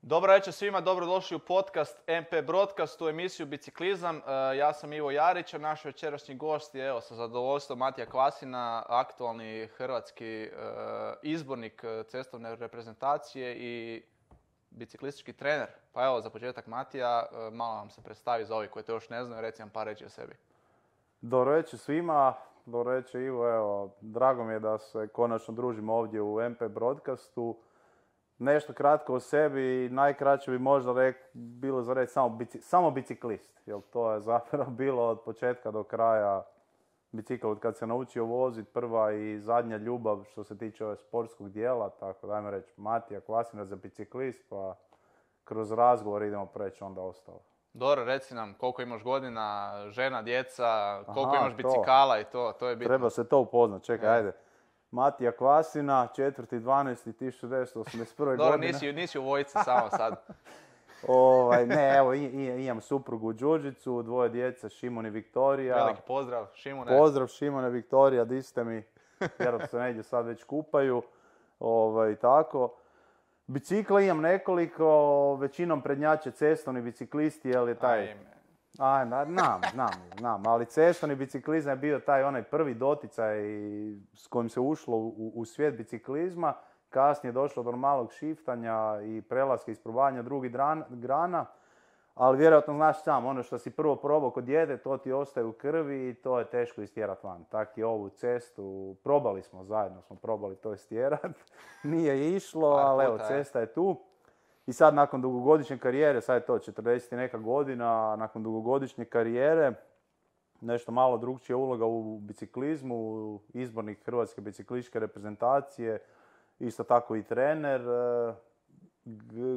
Dobro večer svima, dobrodošli u podcast MP Broadcast, u emisiju Biciklizam. Ja sam Ivo Jarić, a naš večerašnji gost je, sa zadovoljstvom, Matija Kvasina, aktualni hrvatski izbornik cestovne reprezentacije i biciklistički trener. Pa evo, za početak Matija, malo nam se predstavi za ovi koji to još ne znaju, reci nam par reći o sebi. Dobro večer svima, dobro večer Ivo, evo, drago mi je da se konačno družimo ovdje u MP Broadcastu. Nešto kratko o sebi, najkraće bi možda bilo za reći samo biciklist, jer to je zapravo bilo od početka do kraja bicikl, od kad se naučio voziti, prva i zadnja ljubav što se tiče sportskog dijela, tako da ajmo reći Matija Kvasina za biciklist, pa kroz razgovor idemo preći onda ostalo. Dobro, reci nam koliko imaš godina, žena, djeca, koliko imaš bicikala i to je bitno. Treba se to upoznat, čekaj, ajde. Matija Kvasina, 4.12.1981. godine. Dobro, nisi u vojci samo sad. Ne, evo, imam suprugu Đurđicu, dvoje djece, Šimon i Viktorija. Veliki pozdrav, Šimone. Pozdrav, Šimone, Viktorija, di ste mi? Vjerojatno se negdje sad već kupaju. Tako. Bicikla imam nekoliko, većinom prednjače cestovni biciklisti, jer je taj... Znam, ali cestovni biciklizam je bio taj onaj prvi doticaj s kojim se ušlo u svijet biciklizma. Kasnije je došlo do malog šiftanja i prelaska isprobavanja drugih grana. Ali vjerojatno znaš sam, ono što si prvo probao kod djede, to ti ostaje u krvi i to je teško istjerati van. Tako i ovu cestu, probali smo to istjerati. Nije išlo, ali evo, cesta je tu. I sad nakon dugogodišnje karijere, sad je to 40 i neka godina, nakon dugogodišnje karijere, nešto malo drugčija uloga u biciklizmu, izbornik Hrvatske biciklističke reprezentacije, isto tako i trener,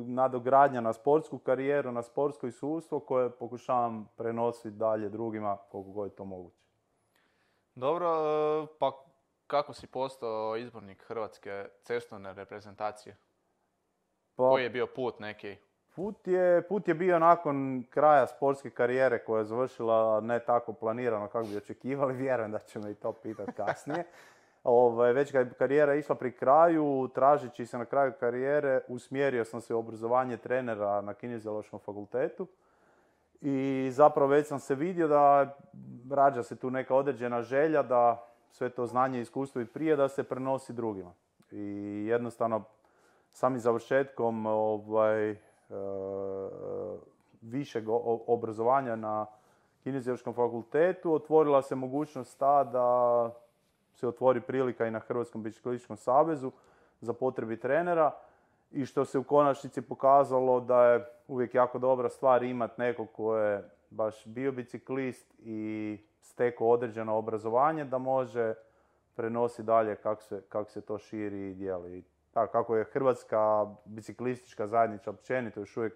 nadogradnja na sportsku karijeru, na sportsko iskustvo koje pokušavam prenositi dalje drugima koliko god je to moguće. Dobro, pa kako si postao izbornik Hrvatske cestovne reprezentacije? Koji je bio put neki? Put je bio nakon kraja sportske karijere koja je završila ne tako planirano kako bi očekivali, vjerujem da će me i to pitati kasnije. Već kad je karijera išla pri kraju, tražeći se na kraju karijere, usmjerio sam se u obrazovanje trenera na Kineziološkom fakultetu. I zapravo već sam se vidio da rađa se tu neka određena želja da sve to znanje i iskustvo i prije da se prenosi drugima. I jednostavno samim završetkom višeg obrazovanja na Kineziološkom fakultetu otvorila se mogućnost ta da se otvori prilika i na Hrvatskom biciklističkom savezu za potrebi trenera i što se u konačnici pokazalo da je uvijek jako dobra stvar imati nekog ko je baš bio biciklist i stekao određeno obrazovanje da može prenositi dalje kako se to širi i dijeli. Tako, kako je Hrvatska biciklistička zajednica općenito još uvijek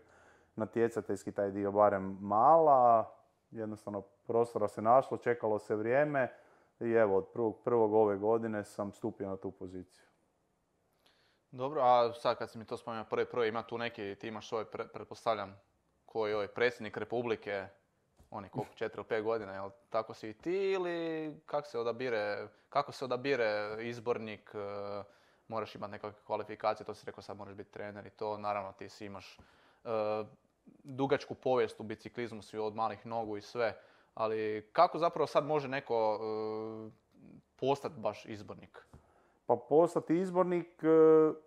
natjecateljski taj dio barem mala, jednostavno prostora se našlo, čekalo se vrijeme i evo od 1.1. ove godine sam stupio na tu poziciju. Dobro, a sad kad si mi to spomenuo prvi, ima tu neki, ti imaš svoj, pretpostavljam, koji je predsjednik Republike, on je koliko, 4 ili 5 godina, jel tako si i ti ili kako se odabire izbornik? Moraš imati nekakve kvalifikacije, to si rekao sad moraš biti trener i to, naravno ti si imaš dugačku povijest u biciklizmu, si od malih nogu i sve, ali kako zapravo sad može neko postati baš izbornik? Pa postati izbornik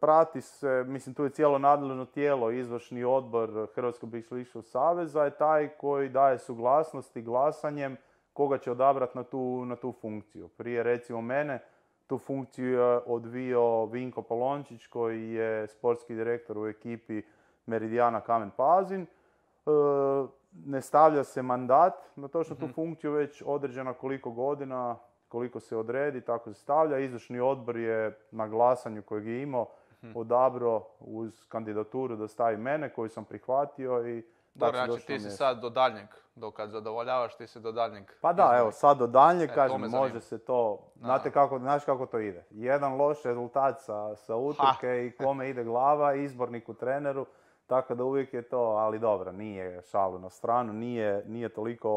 prati se, mislim tu je cijelo nadležno tijelo, izvršni odbor Hrvatskog biciklističkog saveza je taj koji daje suglasnost i glasanjem koga će odabrati na tu funkciju. Prije recimo mene, tu funkciju je odvio Vinko Polončić koji je sportski direktor u ekipi Meridijana Kamen Pazin. Ne stavlja se mandat na točno tu funkciju, već određena koliko godina, koliko se odredi, tako se stavlja. Izvršni odbor je na glasanju kojeg je imao odabrao uz kandidaturu da stavi mene koju sam prihvatio i dobro, znači ti si sad do daljnjeg, dok kad zadovoljavaš ti si do daljnjeg. Pa da, evo sad do daljnjeg, kažem, može se to, znaš kako to ide. Jedan loš rezultat sa utrke i kome ide glava, izborniku, treneru, tako da uvijek je to, ali dobro, nije šalu na stranu, nije toliko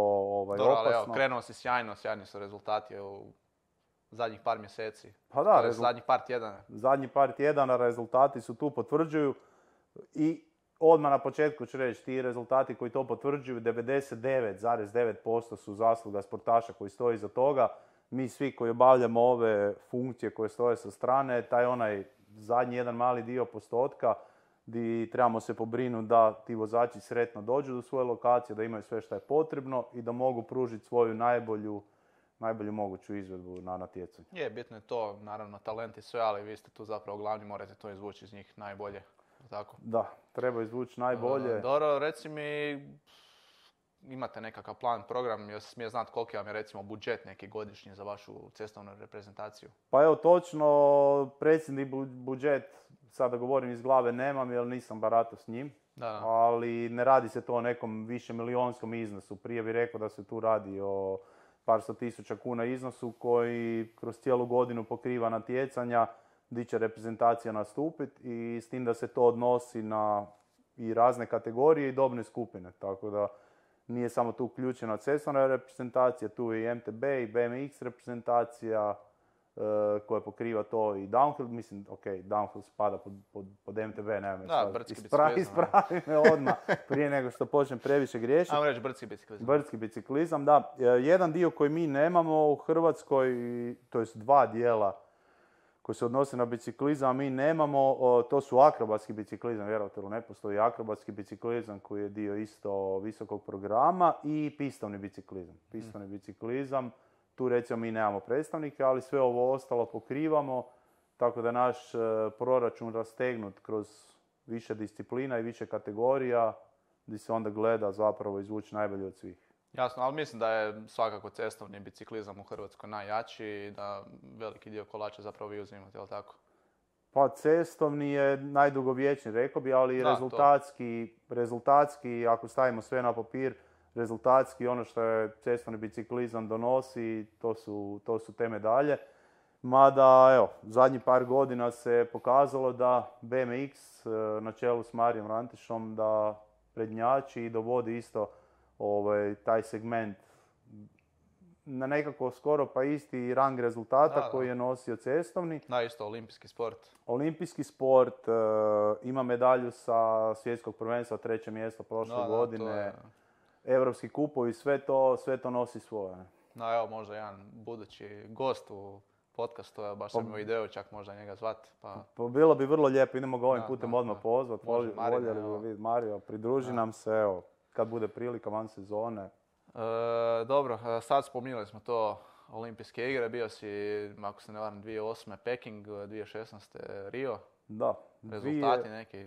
dobro, opasno. Ali evo, krenuo si sjajni su rezultati u zadnjih par mjeseci. Pa da, zadnjih par tjedana. Zadnjih par tjedana rezultati su tu, potvrđuju i odmah na početku ću reći, ti rezultati koji to potvrđuju, 99,9% su zasluga sportaša koji stoji iza toga. Mi svi koji obavljamo ove funkcije koje stoje sa strane, taj onaj zadnji jedan mali dio postotka gdje trebamo se pobrinuti da ti vozači sretno dođu do svoje lokacije, da imaju sve što je potrebno i da mogu pružiti svoju najbolju moguću izvedbu na natjecanju. Je, bitno je to, naravno, talent i sve, ali vi ste tu zapravo glavni, morate to izvući iz njih najbolje. Tako? Da, treba izvući najbolje. Dobro, reci mi, imate nekakav plan, program, jel smije znati koliki vam je recimo budžet neki godišnji za vašu cestovnu reprezentaciju? Pa evo, točno, predsjedni budžet, sada govorim iz glave, nemam jer nisam baratao s njim. Da. Ali ne radi se to o nekom višemilijonskom iznosu. Prije bih rekao da se tu radi o par sto tisuća kuna iznosu koji kroz cijelu godinu pokriva natjecanja gdje će reprezentacija nastupiti i s tim da se to odnosi na i razne kategorije i dobne skupine. Tako da nije samo tu uključena cestovna reprezentacija, tu je i MTB i BMX reprezentacija koja pokriva to i downhill. Mislim, ok, downhill spada pod MTB, nemam da, brdski biciklizam. Ispravi me odmah prije nego što počnem previše griješiti. Ajmo reći brdski biciklizam. Brdski biciklizam, da. Jedan dio koji mi nemamo u Hrvatskoj, to jest dva dijela koji se odnose na biciklizam, a mi nemamo, to su akrobatski biciklizam, vjerojatno ne postoji akrobatski biciklizam koji je dio isto visokog programa i pistovni biciklizam. Pistovni biciklizam, tu recimo mi nemamo predstavnike, ali sve ovo ostalo pokrivamo, tako da naš proračun rastegnut kroz više disciplina i više kategorija, gdje se onda gleda zapravo izvući najbolje od svih. Jasno, ali mislim da je svakako cestovni biciklizam u Hrvatskoj najjači i da veliki dio kolača zapravo vi uzimate, jel tako? Pa cestovni je najdugovječniji, rekao bi, ali da, rezultatski, ako stavimo sve na papir, rezultatski ono što je cestovni biciklizam donosi, to su te medalje. Mada, evo, zadnjih par godina se pokazalo da BMX na čelu s Marijom Rantišom da prednjači i dovodi isto taj segment na nekako skoro pa isti rang rezultata koji je nosio cestovni. Da, isto olimpijski sport. Olimpijski sport, ima medalju sa svjetskog prvenstva, 3. mjesto prošle godine. Europski kupovi, sve to nosi svoje. No evo, možda jedan budući gost u podcastu, baš sam imao ideju čak možda njega zvat. Pa bilo bi vrlo lijepo, idemo ga ovim putem odmah pozvat. Voljeli bi vidjeti Mario, pridruži nam se, evo, kad bude prilika van sezone. Dobro, sad spominjali smo to olimpijske igre, bio si, ako se ne varam, 2008. Peking, 2016. Rio. Da. Rezultati neki,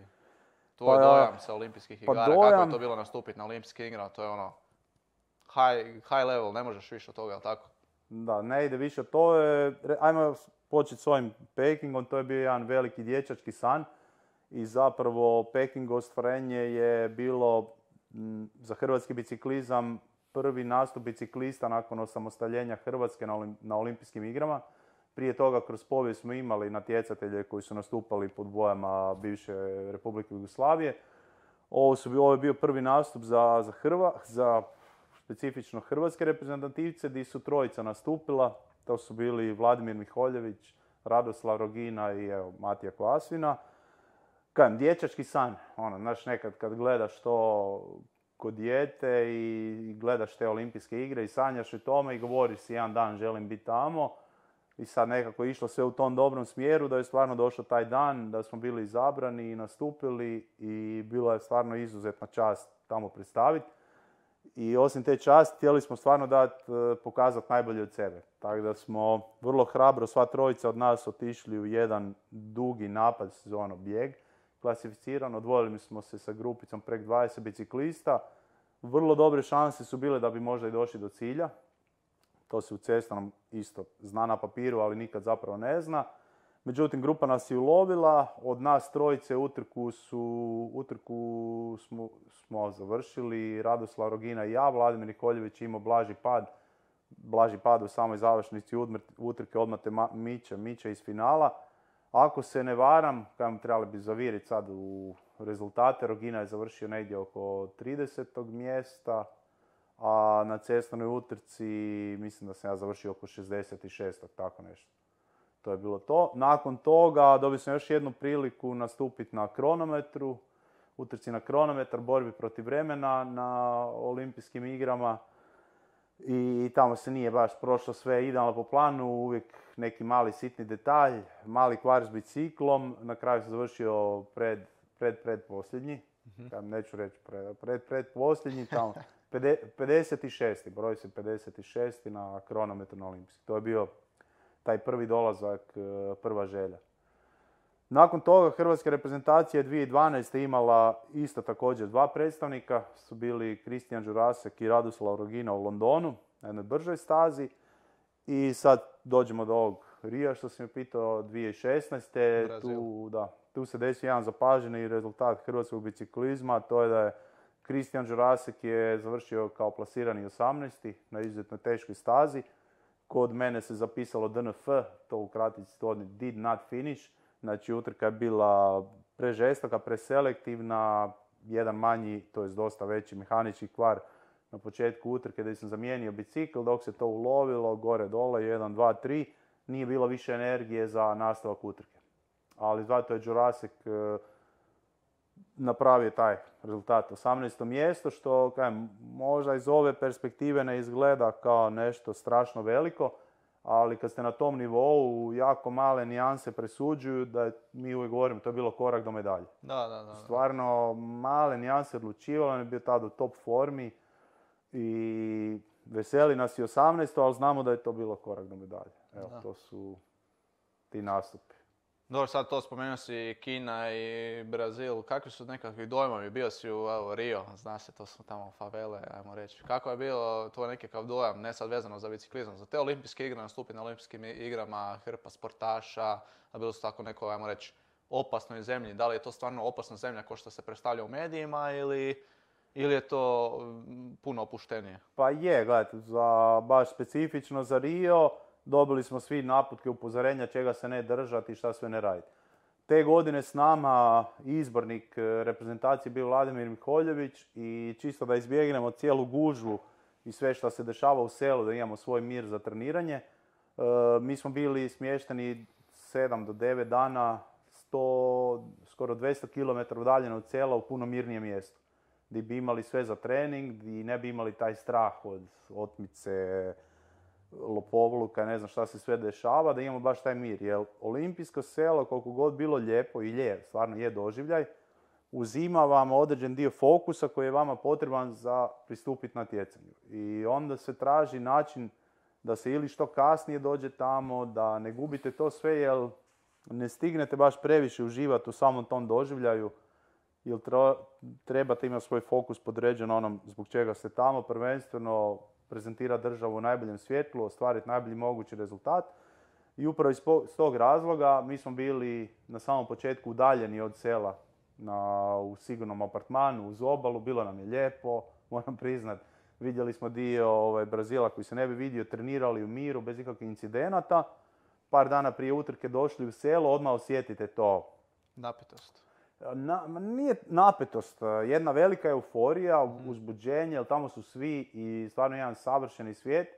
tvoj dojam sa olimpijskih igara, kako je to bilo nastupiti na olimpijske igre, to je ono high level, ne možeš više od toga, jel tako? Da, ne ide više, to je, ajmo početi s ovim Pekingom, to je bio jedan veliki dječački san i zapravo Pekingovo ostvarenje je bilo za hrvatski biciklizam prvi nastup biciklista nakon osamostaljenja Hrvatske na olimpijskim igrama. Prije toga kroz povijest smo imali natjecatelje koji su nastupali pod bojama bivše Republike Jugoslavije. Ovo je bio prvi nastup za specifično hrvatske reprezentativce gdje su trojica nastupila. To su bili Vladimir Miholjević, Radoslav Rogina i Matija Kvasvina. Kajem, dječački san, znaš, nekad kad gledaš to kod dijete i gledaš te olimpijske igre i sanjaš o tome i govoriš si jedan dan želim biti tamo i sad nekako je išlo sve u tom dobrom smjeru da je stvarno došao taj dan, da smo bili izabrani i nastupili i bila je stvarno izuzetna čast tamo predstaviti. I osim te časti htjeli smo stvarno pokazati najbolje od sebe. Tako da smo vrlo hrabro sva trojica od nas otišli u jedan dugi napad sezono bijeg. Klasificiran, odvojili smo se sa grupicom prek 20 biciklista. Vrlo dobre šanse su bile da bi možda i došli do cilja. To se u cestovnom isto zna na papiru, ali nikad zapravo ne zna. Međutim, grupa nas je ulovila. Od nas trojice utrku smo završili. Radoslav Rogina i ja. Vladimir Nikoljević imao blaži pad u samoj završnici utrke, odmah te miče iz finala. Ako se ne varam, trebali bi zaviriti sad u rezultate, Rogina je završio negdje oko 30. mjesta, a na cestovnoj utrci mislim da sam ja završio oko 66. tako nešto. To je bilo to. Nakon toga dobio sam još jednu priliku nastupiti na kronometru, utrci na kronometar, borbi protiv vremena na olimpijskim igrama. I tamo se nije baš prošlo sve idealno po planu, uvijek neki mali sitni detalj, mali kvar s biciklom, na kraju sam završio predposljednji, neću reći predposljednji, tamo 56. broj se 56. na kronometru na olimpijski. To je bio taj prvi dolazak, prva želja. Nakon toga Hrvatska reprezentacija 2012. imala isto također 2 predstavnika, su bili Kristijan Đurasek i Radoslav Rogina u Londonu, na jednoj bržoj stazi. I sad dođemo do ovog Rija što sam je pitao 2016. Tu se desio jedan zapaženi rezultat hrvatskog biciklizma, to je da je Kristijan Đurasek je završio kao plasirani 18. na izuzetno teškoj stazi. Kod mene se zapisalo DNF, to u kratici to did not finish. Znači utrka je bila prežestoka, preselektivna, jedan manji, to je dosta veći mehanički kvar na početku utrke gdje sam zamijenio bicikl, dok se to ulovilo, gore dole, 1, 2, 3, nije bilo više energije za nastavak utrke. Ali zato je Đurasek napravio taj rezultat 18. mjesto, što možda iz ove perspektive ne izgleda kao nešto strašno veliko, ali kad ste na tom nivou, jako male nijanse presuđuju da mi uvijek govorimo, to je bilo korak do medalje. Da. Stvarno, male nijanse odlučivalo, on je bio tada u top formi i veseli nas i 18. ali znamo da je to bilo korak do medalje. Evo, to su ti nastupi. Dobro, sad to spomenuo si Kina i Brazil. Kakvi su nekakvi dojmovi? Bio si u Rio, zna se, to su tamo favele, ajmo reći. Kako je bilo tvoj nekakav dojam, ne sad vezano za biciklizam, za te olimpijske igre, nastupi na olimpijskim igrama, hrpa sportaša, a bilo su tako neko, ajmo reći, opasnoj zemlji. Da li je to stvarno opasna zemlja kao što se predstavlja u medijima ili je to puno opuštenije? Pa je, gledajte, baš specifično za Rio dobili smo svi naputke, upozorenja čega se ne držati i šta sve ne raditi. Te godine s nama izbornik reprezentacije bio Vladimir Miholjević i čisto da izbjegnemo cijelu gužvu i sve što se dešava u selu, da imamo svoj mir za treniranje, mi smo bili smješteni 7 do 9 dana, skoro 200 km udaljeno od sela u puno mirnijem mjestu. Gdje bi imali sve za trening, gdje ne bi imali taj strah od otmice, lopovluka, ne znam šta se sve dešava, da imamo baš taj mir. Jer olimpijsko selo, koliko god bilo lijepo i stvarno je doživljaj, uzima vam određen dio fokusa koji je vama potreban za pristupiti natjecanju. I onda se traži način da se ili što kasnije dođe tamo, da ne gubite to sve, jer ne stignete baš previše uživati u samom tom doživljaju, jer trebate imati svoj fokus podređen onom zbog čega ste tamo, prvenstveno prezentirati državu u najboljem svjetlu, ostvariti najbolji mogući rezultat. I upravo iz tog razloga mi smo bili na samom početku udaljeni od sela u sigurnom apartmanu uz obalu, bilo nam je lijepo, moram priznat. Vidjeli smo dio Brazila koji se ne bi vidio, trenirali u miru, bez ikakvih incidenata. Par dana prije utrke došli u selo, odmah osjetite to. Napetost. Nije napetost, jedna velika euforija, uzbuđenje, jer tamo su svi i stvarno jedan savršeni svijet.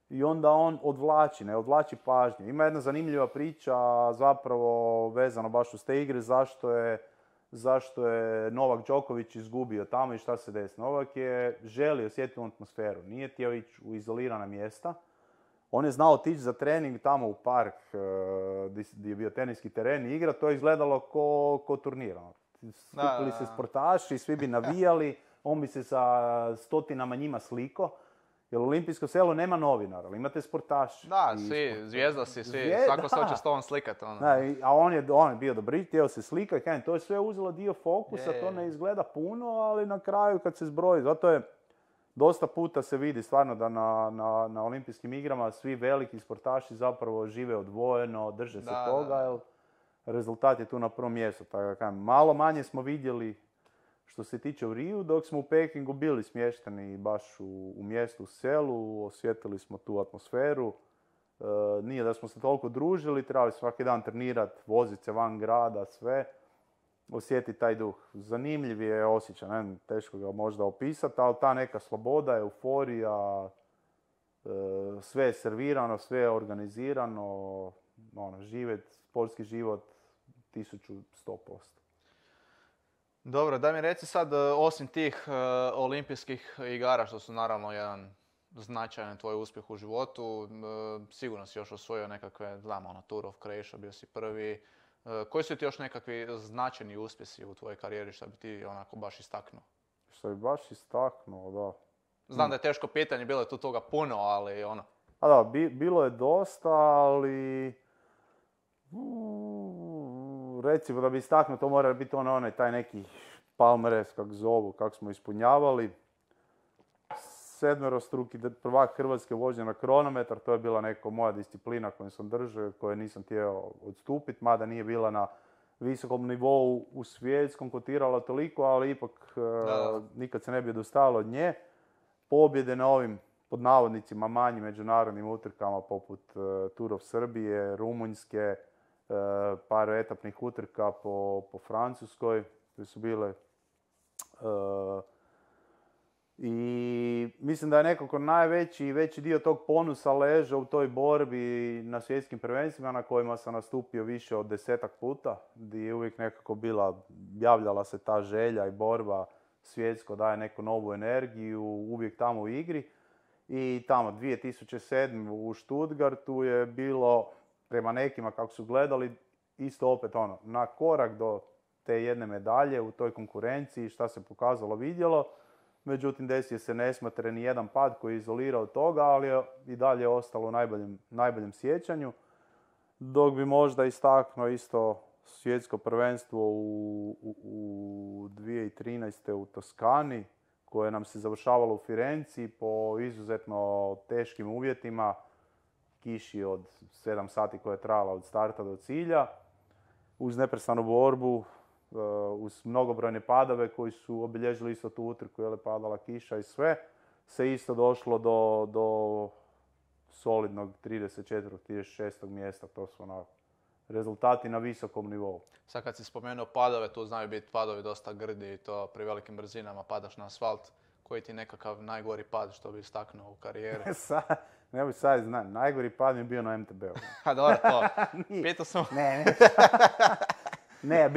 I onda on odvlači pažnju. Ima jedna zanimljiva priča zapravo vezano baš uz te igre, zašto je Novak Đoković izgubio tamo i šta se desilo. Novak je želio osjetiti atmosferu, nije htio ići u izolirana mjesta. On je znao otići za trening tamo u park gdje je bio teniski teren i igra, to je izgledalo ko turnir. Skupili se sportaši, svi bi navijali, on bi se sa stotinama njima sliko. Jer olimpijsko selo nema novinara, ali imate sportaši. Da, svi, zvijezda si, svi, svako se hoće s tobom slikati. A on je bio dobri, htio se slikati, to je sve uzelo dio fokusa, to ne izgleda puno, ali na kraju kad se zbroji, zato je dosta puta se vidi stvarno da na olimpijskim igrama svi veliki sportaši zapravo žive odvojeno, drže se toga, jer rezultat je tu na prvom mjestu. Malo manje smo vidjeli što se tiče u Riju, dok smo u Pekingu bili smješteni baš u mjestu, u selu, osjetili smo tu atmosferu. Nije da smo se toliko družili, trebali svaki dan trenirati, voziti se van grada, sve. Osjetiti taj duh. Zanimljiv je osjećaj, teško ga možda opisati, ali ta neka sloboda, euforija, sve je servirano, sve je organizirano, živjet, sportski život 1100%. Dobro, daj mi reci sad, osim tih olimpijskih igara, što su naravno jedan značajan tvoj uspjeh u životu, sigurno si još osvojio nekakve, znamo, ono, Tour of Croatia, bio si prvi. Koji su ti još nekakvi značajni uspjesi u tvojoj karijeri, što bi ti onako baš istaknuo? Što bi baš istaknuo, da. Znam da je teško pitanje, bilo je tu toga puno, ali ono... A da, bilo je dosta, ali... recimo da bi istaknuo, to mora biti onaj taj neki palmares, kak zovu, kak smo ispunjavali. 7-struki prvak Hrvatske vožnje na kronometar, to je bila neka moja disciplina koju sam držao, koje nisam htio odstupiti, mada nije bila na visokom nivou u svjetskom, kotirala toliko, ali ipak nikad se ne bi odustajalo od nje. Pobjede na ovim, pod navodnicima, manjim međunarodnim utrkama poput Tour of Srbije, Rumunjske, par etapnih utrka po Francuskoj, koje su bile... I mislim da je nekako veći dio tog ponusa ležao u toj borbi na svjetskim prvenstvima na kojima sam nastupio više od 10 puta, gdje je uvijek nekako javljala se ta želja i borba svjetsko, daje neku novu energiju, uvijek tamo u igri. I tamo 2007. u Stuttgartu je bilo, prema nekima kako su gledali, isto opet na korak do te jedne medalje u toj konkurenciji, šta se pokazalo, vidjelo. Međutim, desio se nesmotreni jedan pad koji je izolirao toga, ali je i dalje ostalo u najboljem sjećanju. Dok bi možda istaknuo isto svjetsko prvenstvo u 2013. u Toskani, koje nam se završavalo u Firenci po izuzetno teškim uvjetima, kiši od 7 sati koja je trajala od starta do cilja, uz neprestanu borbu, uz mnogobrojne padove koji su obilježili isto tu utrku, je padala kiša i sve, se isto došlo do solidnog 34. 36. mjesta. To su rezultati na visokom nivou. Sad kad si spomenuo padove, tu znaju biti padovi dosta grdi i to pri velikim brzinama padaš na asfalt. Koji ti je nekakav najgori pad što bi istaknuo u karijeri? Ne bi sad znam, najgori pad mi je bio na MTB-u. Ha, dobro, to. Pitao sam. Ne,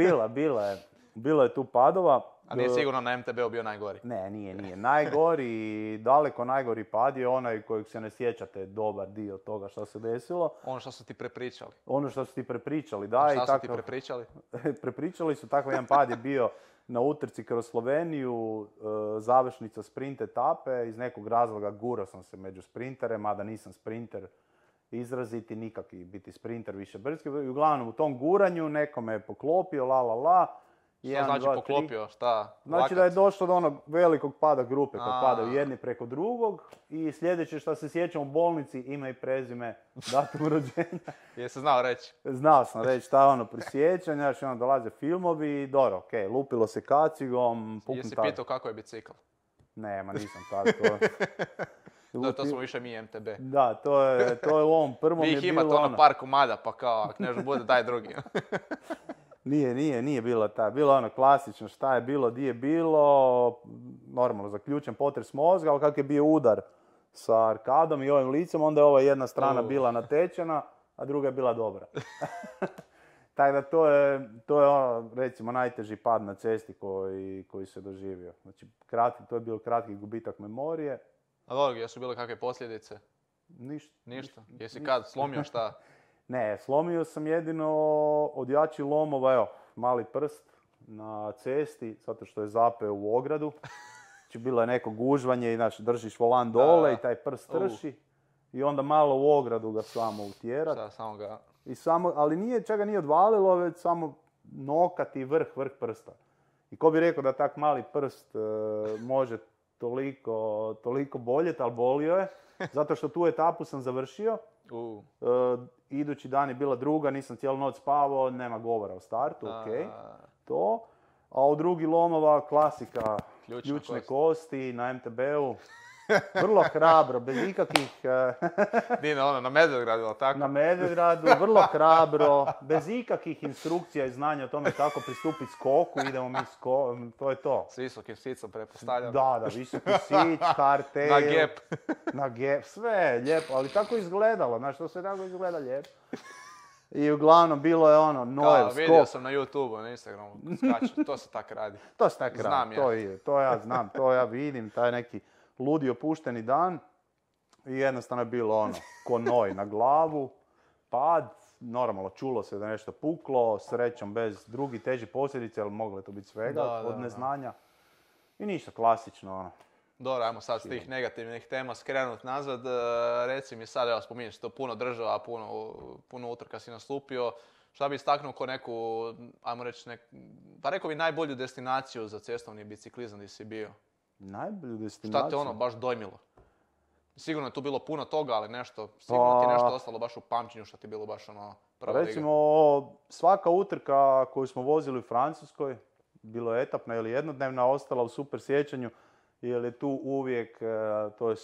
bilo je tu padova. A nije sigurno na MTB-u bio najgori? Ne, nije. Najgori, daleko najgori pad je onaj kojeg se ne sjećate dobar dio toga što se desilo. Ono što su ti prepričali? Ono što su ti prepričali, da. Šta su ti prepričali? Prepričali su, takav jedan pad je bio na utrci kroz Sloveniju, završnica sprint etape. Iz nekog razloga gurao sam se među sprintere, mada nisam sprinter izraziti, nikakvi biti sprinter više brzki. Uglavnom u tom guranju neko me je poklopio, Što znači poklopio? Šta? Znači da je došlo do onog velikog pada grupe, kad padaju jedni preko drugog. I sljedeće što se sjećam u bolnici, ime i prezime, datum rođenja. Jesi znao reći? Znao sam reći, šta je prisjećanje, znači dolaze filmovi, dobro, okej, lupilo se kacigom, Jesi pitao kako je bicikl? Nema, nisam tako. To smo više mi MTB. Da, to je u ovom prvom je bilo... Vi ih imate par komada, pa kao, ako nešto bude, daj drugi. Nije bilo ta. Bilo klasično šta je bilo, di je bilo, normalno zaključen potres mozga, ali kak je bio udar sa arkadom i ovim licem, onda je ova jedna strana bila natečena, a druga je bila dobra. Tako da to je recimo najteži pad na cesti koji se doživio. Znači, to je bio kratki gubitak memorije. A dobro, jesu bile kakve posljedice? Ništa. Jesi kad slomio šta? Ne, slomio sam jedino od jačih lomova, mali prst na cesti, zato što je zapeo u ogradu. Znači, bilo je neko gužvanje i držiš volan dole i taj prst trši. I onda malo u ogradu ga samo utjerat. Samo ga... Ali čega nije odvalilo, već samo nokat i vrh prsta. I ko bi rekao da tak mali prst može toliko boljeti, ali bolio je. Zato što tu etapu sam završio. Idući dan je bila druga, nisam cijelu noć spavao, nema govora o startu, okej. To. A u drugi lomova klasika, ključne kosti na MTB-u. Vrlo hrabro, bez ikakvih... Na Medvedgradu, ali tako? Na Medvedgradu, vrlo hrabro, bez ikakvih instrukcija i znanja o tome kako pristupiti skoku, idemo mi to je to. S visokim sicom, pretpostavljam. Da, visoki sic, hardtail. Na gep. Na gep, sve lijepo, ali tako izgledalo, znaš, to se tako izgleda lijepo. I uglavnom bilo je ono Nojev skok. Vidio sam na YouTube-u, na Instagramu, skaču, to se tak radi. To se tak radi, Znam ja. to ja znam, to ja vidim, taj neki ludi opušteni dan. I jednostavno je bilo ono, ko noj na glavu, pad, normalno čulo se da je nešto puklo, srećom bez drugih težih posljedica, ali moglo je to biti svega od neznanja. I ništa, klasično ono. Dobro, ajmo sad s tih negativnih tema skrenut nazad. Reci mi sad, evo spominješ to puno država, puno utrka si nastupio. Šta bi istaknuo ko neku, ajmo reći, pa rekao bi najbolju destinaciju za cestovni biciklizam gdje si bio? Najbolju destinaciju? Šta te ono baš dojmilo? Sigurno je tu bilo puno toga, ali sigurno ti je nešto ostalo baš u pamćenju što ti je bilo baš ono prva liga. Recimo, svaka utrka koju smo vozili u Francuskoj, bilo je etapna ili jednodnevna, ostala u super sjećanju, jer je tu uvijek, to je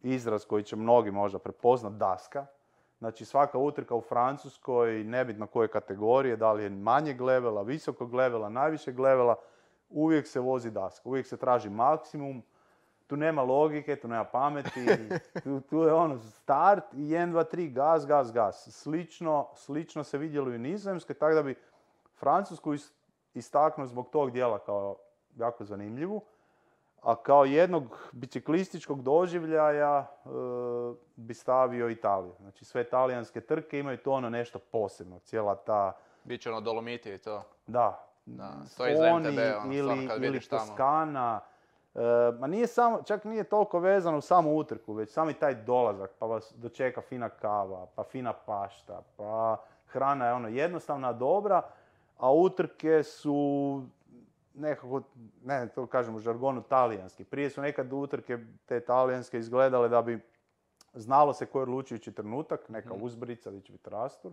izraz koji će mnogi možda prepoznat, daska. Znači svaka utrka u Francuskoj, nebitno koje kategorije, da li je manjeg levela, visokog levela, najvišeg levela, uvijek se vozi daska, uvijek se traži maksimum. Tu nema logike, tu nema pameti, tu je ono start i 1, 2, 3, gas, gas, gas. Slično se vidjelo i u Nizozemskoj, tako da bi Francusku istaknuo zbog tog dijela kao jako zanimljivu. A kao jednog biciklističkog doživljaja bi stavio Italiju. Znači sve talijanske trke imaju to ono nešto posebno, cijela ta... Biće ono Dolomiti i to. Da. To je iz MTB, ono, kad ili vidiš tamo. Toskana. Ma nije samo, čak nije toliko vezano u samu utrku, već sami taj dolazak, pa vas dočeka fina kava, pa fina pašta, pa hrana je ono jednostavna, dobra, a utrke su nekako, ne to kažem u žargonu, talijanski. Prije su nekad utrke te talijanske izgledale da bi znalo se koji je odlučujući trenutak, neka uzbrica, gdje će biti rastur.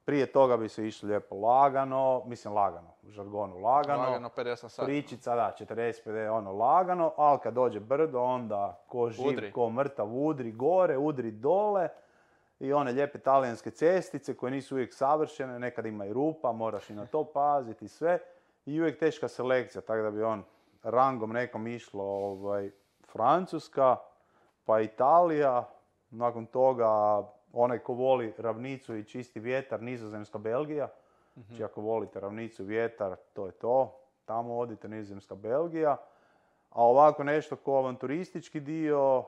Prije toga bi se išlo lijepo lagano, u žargonu lagano. Lagano 50 sati. Pričica, da, 40-50, ono lagano, ali kad dođe brdo, onda ko živ, udri. Ko mrtav, udri gore, udri dole. I one lijepe talijanske cestice koje nisu uvijek savršene, nekad ima i rupa, moraš i na to paziti sve. I uvijek teška selekcija, tako da bi on rangom nekom išlo Francuska, pa Italija, nakon toga onaj ko voli ravnicu i čisti vjetar, Nizozemska, Belgija. Znači ako volite ravnicu, vjetar, to je to. Tamo odite, Nizozemska, Belgija. A ovako nešto ko avanturistički dio,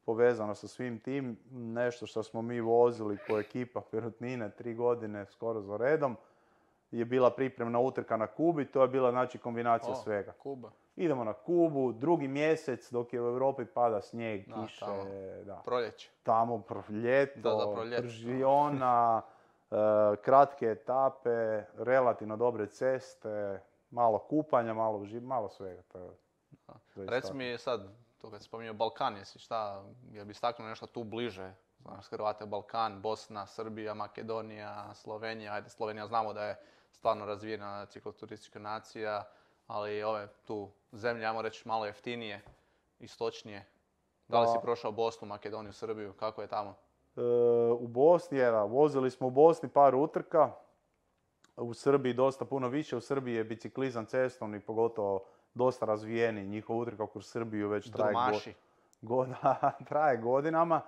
povezano sa svim tim, nešto što smo mi vozili ko ekipa Perutnine 3 godine skoro za redom, je bila pripremna utrka na Kubi, to je bila znači kombinacija svega. Kuba. Idemo na Kubu, 2. mjesec dok je u Europi pada snijeg, kiše, proljeće. Tamo ljeto, pržiona, kratke etape, relativno dobre ceste, malo kupanja, malo svega. Reci mi sad, to kad si spominjao Balkan, jel bi istaknuo nešto tu bliže? Znaš, Hrvate, Balkan, Bosna, Srbija, Makedonija, Slovenija. Ajde, Slovenija znamo da je stvarno razvijena cikloturistička nacija, ali ove tu zemlje, ajmo reći, malo jeftinije, istočnije. Da li si prošao Bosnu, Makedoniju, Srbiju? Kako je tamo? U Bosni, vozili smo u Bosni par utrka. U Srbiji dosta puno više. U Srbiji je biciklizam cestovni, pogotovo dosta razvijeni. Njihova utrka kroz Srbiju već traje godinama.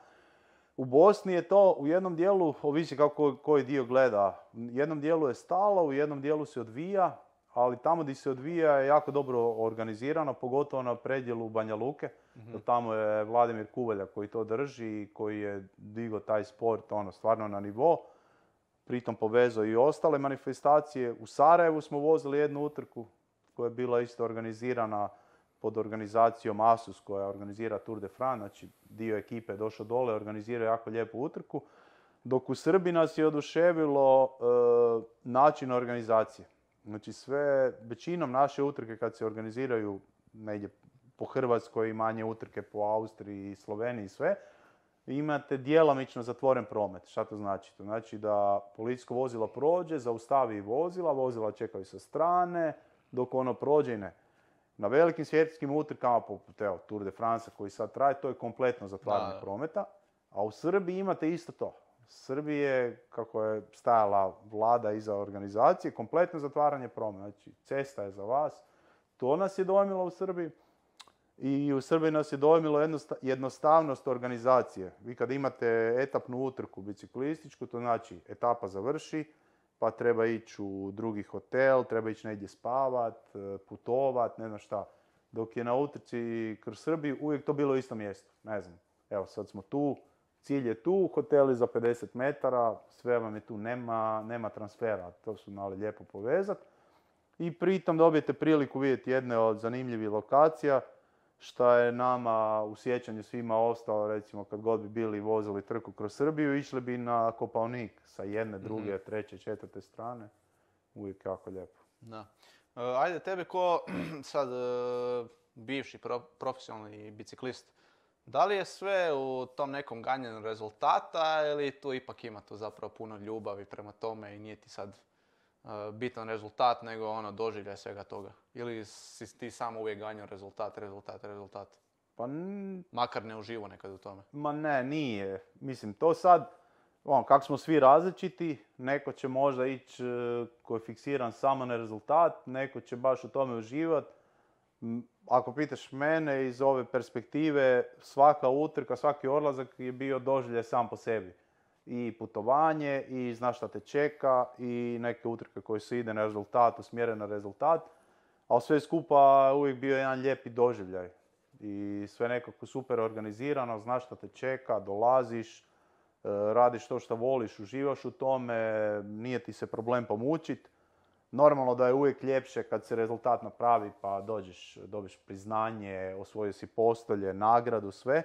U Bosni je to u jednom dijelu, ovisi kako koji dio gleda. U jednom dijelu je stalo, u jednom dijelu se odvija, ali tamo gdje se odvija je jako dobro organizirano, pogotovo na predjelu Banja Luke. Tamo je Vladimir Kuvalja koji to drži i koji je digao taj sport stvarno na nivo. Pritom povezao i ostale manifestacije. U Sarajevu smo vozili jednu utrku koja je bila isto organizirana pod organizacijom Asus koja organizira Tour de France, znači dio ekipe je došao dole, organizirao jako lijepu utrku, dok u Srbiji nas je oduševilo način organizacije. Znači većinom naše utrke kad se organiziraju negdje po Hrvatskoj i manje utrke po Austriji i Sloveniji i sve, imate djelomično zatvoren promet. Šta to znači? To znači da policijsko vozilo prođe, zaustavi vozila čekaju sa strane, dok ono prođe i ne. Na velikim svjetskim utrkama, poput Tour de France koji sad traje, to je kompletno zatvaranje prometa. A u Srbiji imate isto to. U Srbiji je, kako je stajala vlada iza organizacije, kompletno zatvaranje prometa. Znači, cesta je za vas. To nas je dojmilo u Srbiji. I u Srbiji nas je dojmilo jednostavnost organizacije. Vi kad imate etapnu utrku biciklističku, to znači etapa završi, pa treba ići u drugi hotel, treba ići negdje spavat, putovat, ne znam šta. Dok je na utrci kroz Srbiju uvijek to bilo u istom mjestu. Ne znam, evo sad smo tu, cilj je tu, hoteli za 50 metara, sve vam je tu, nema transfera, to su znali lijepo povezati. I pritom dobijete priliku vidjeti jedne od zanimljivih lokacija, što je nama u sjećanju svima ostalo, recimo kad god bi bili vozili trku kroz Srbiju, išli bi na Kopaonik sa jedne, druge, treće, četvrte strane. Uvijek jako lijepo. Da. Ajde, tebe ko sad bivši profesionalni biciklist, da li je sve u tom nekom ganjanju rezultata ili tu ipak ima tu zapravo puno ljubavi prema tome i nije ti sad bitan rezultat, nego ono doživljaj svega toga? Ili si ti samo uvijek ganjao rezultat? Pa makar ne uživo nekad u tome. Ma ne, nije. Mislim, to sad, kako smo svi različiti, neko će možda ići koji je fiksiran samo na rezultat, neko će baš u tome uživati. Ako pitaš mene iz ove perspektive, svaka utrka, svaki odlazak je bio doživljaj sam po sebi. I putovanje, i znaš šta te čeka, i neke utrke koje se ide na rezultat, usmjeren na rezultat. Ali sve skupa uvijek bio jedan lijepi doživljaj. I sve nekako super organizirano, znaš šta te čeka, dolaziš, radiš to što voliš, uživaš u tome, nije ti se problem pomučit. Normalno da je uvijek ljepše kad se rezultat napravi pa dobiš priznanje, osvojio si postolje, nagradu, sve.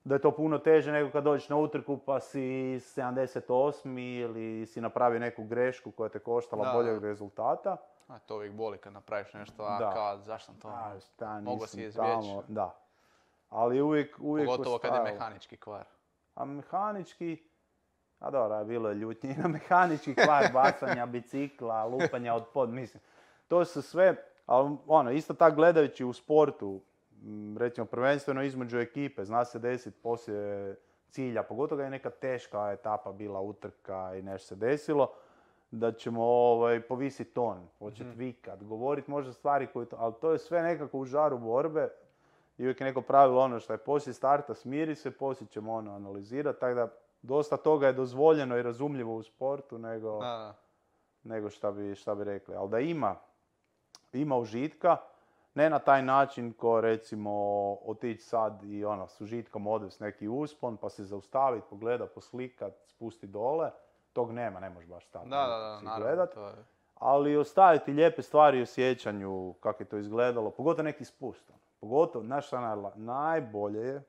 Da je to puno teže nego kad dođeš na utrku pa si 78. ili si napravio neku grešku koja te koštala boljeg rezultata. A to uvijek boli kad napraviš nešto, kao zašto sam to mogo si izbjeći. Da. Ali uvijek pogotovo kad je mehanički kvar. A mehanički, dobro, bilo je ljutnje na mehanički kvar, bacanja bicikla, lupanja od pod, mislim. To su sve, ali isto tako gledajući u sportu, recimo prvenstveno između ekipe, zna se desiti poslije cilja, pogotovo kad je neka teška etapa bila, utrka i nešto se desilo, da ćemo povisiti ton, početi vikat, govoriti možda stvari koje, ali to je sve nekako u žaru borbe i uvijek je neko pravilo ono što je poslije starta smiri se, poslije ćemo analizirati, tako da dosta toga je dozvoljeno i razumljivo u sportu nego šta bi rekli, ali da ima užitka, ne na taj način ko recimo otići sad i s užitkom odvesti neki uspon pa se zaustaviti, pogledat, poslikat, spusti dole. Tog nema, ne možeš baš stati naravno, to je. Ali ostaviti lijepe stvari u sjećanju kako je to izgledalo, pogotovo neki spust. Pogotovo, znaš šta najbolje je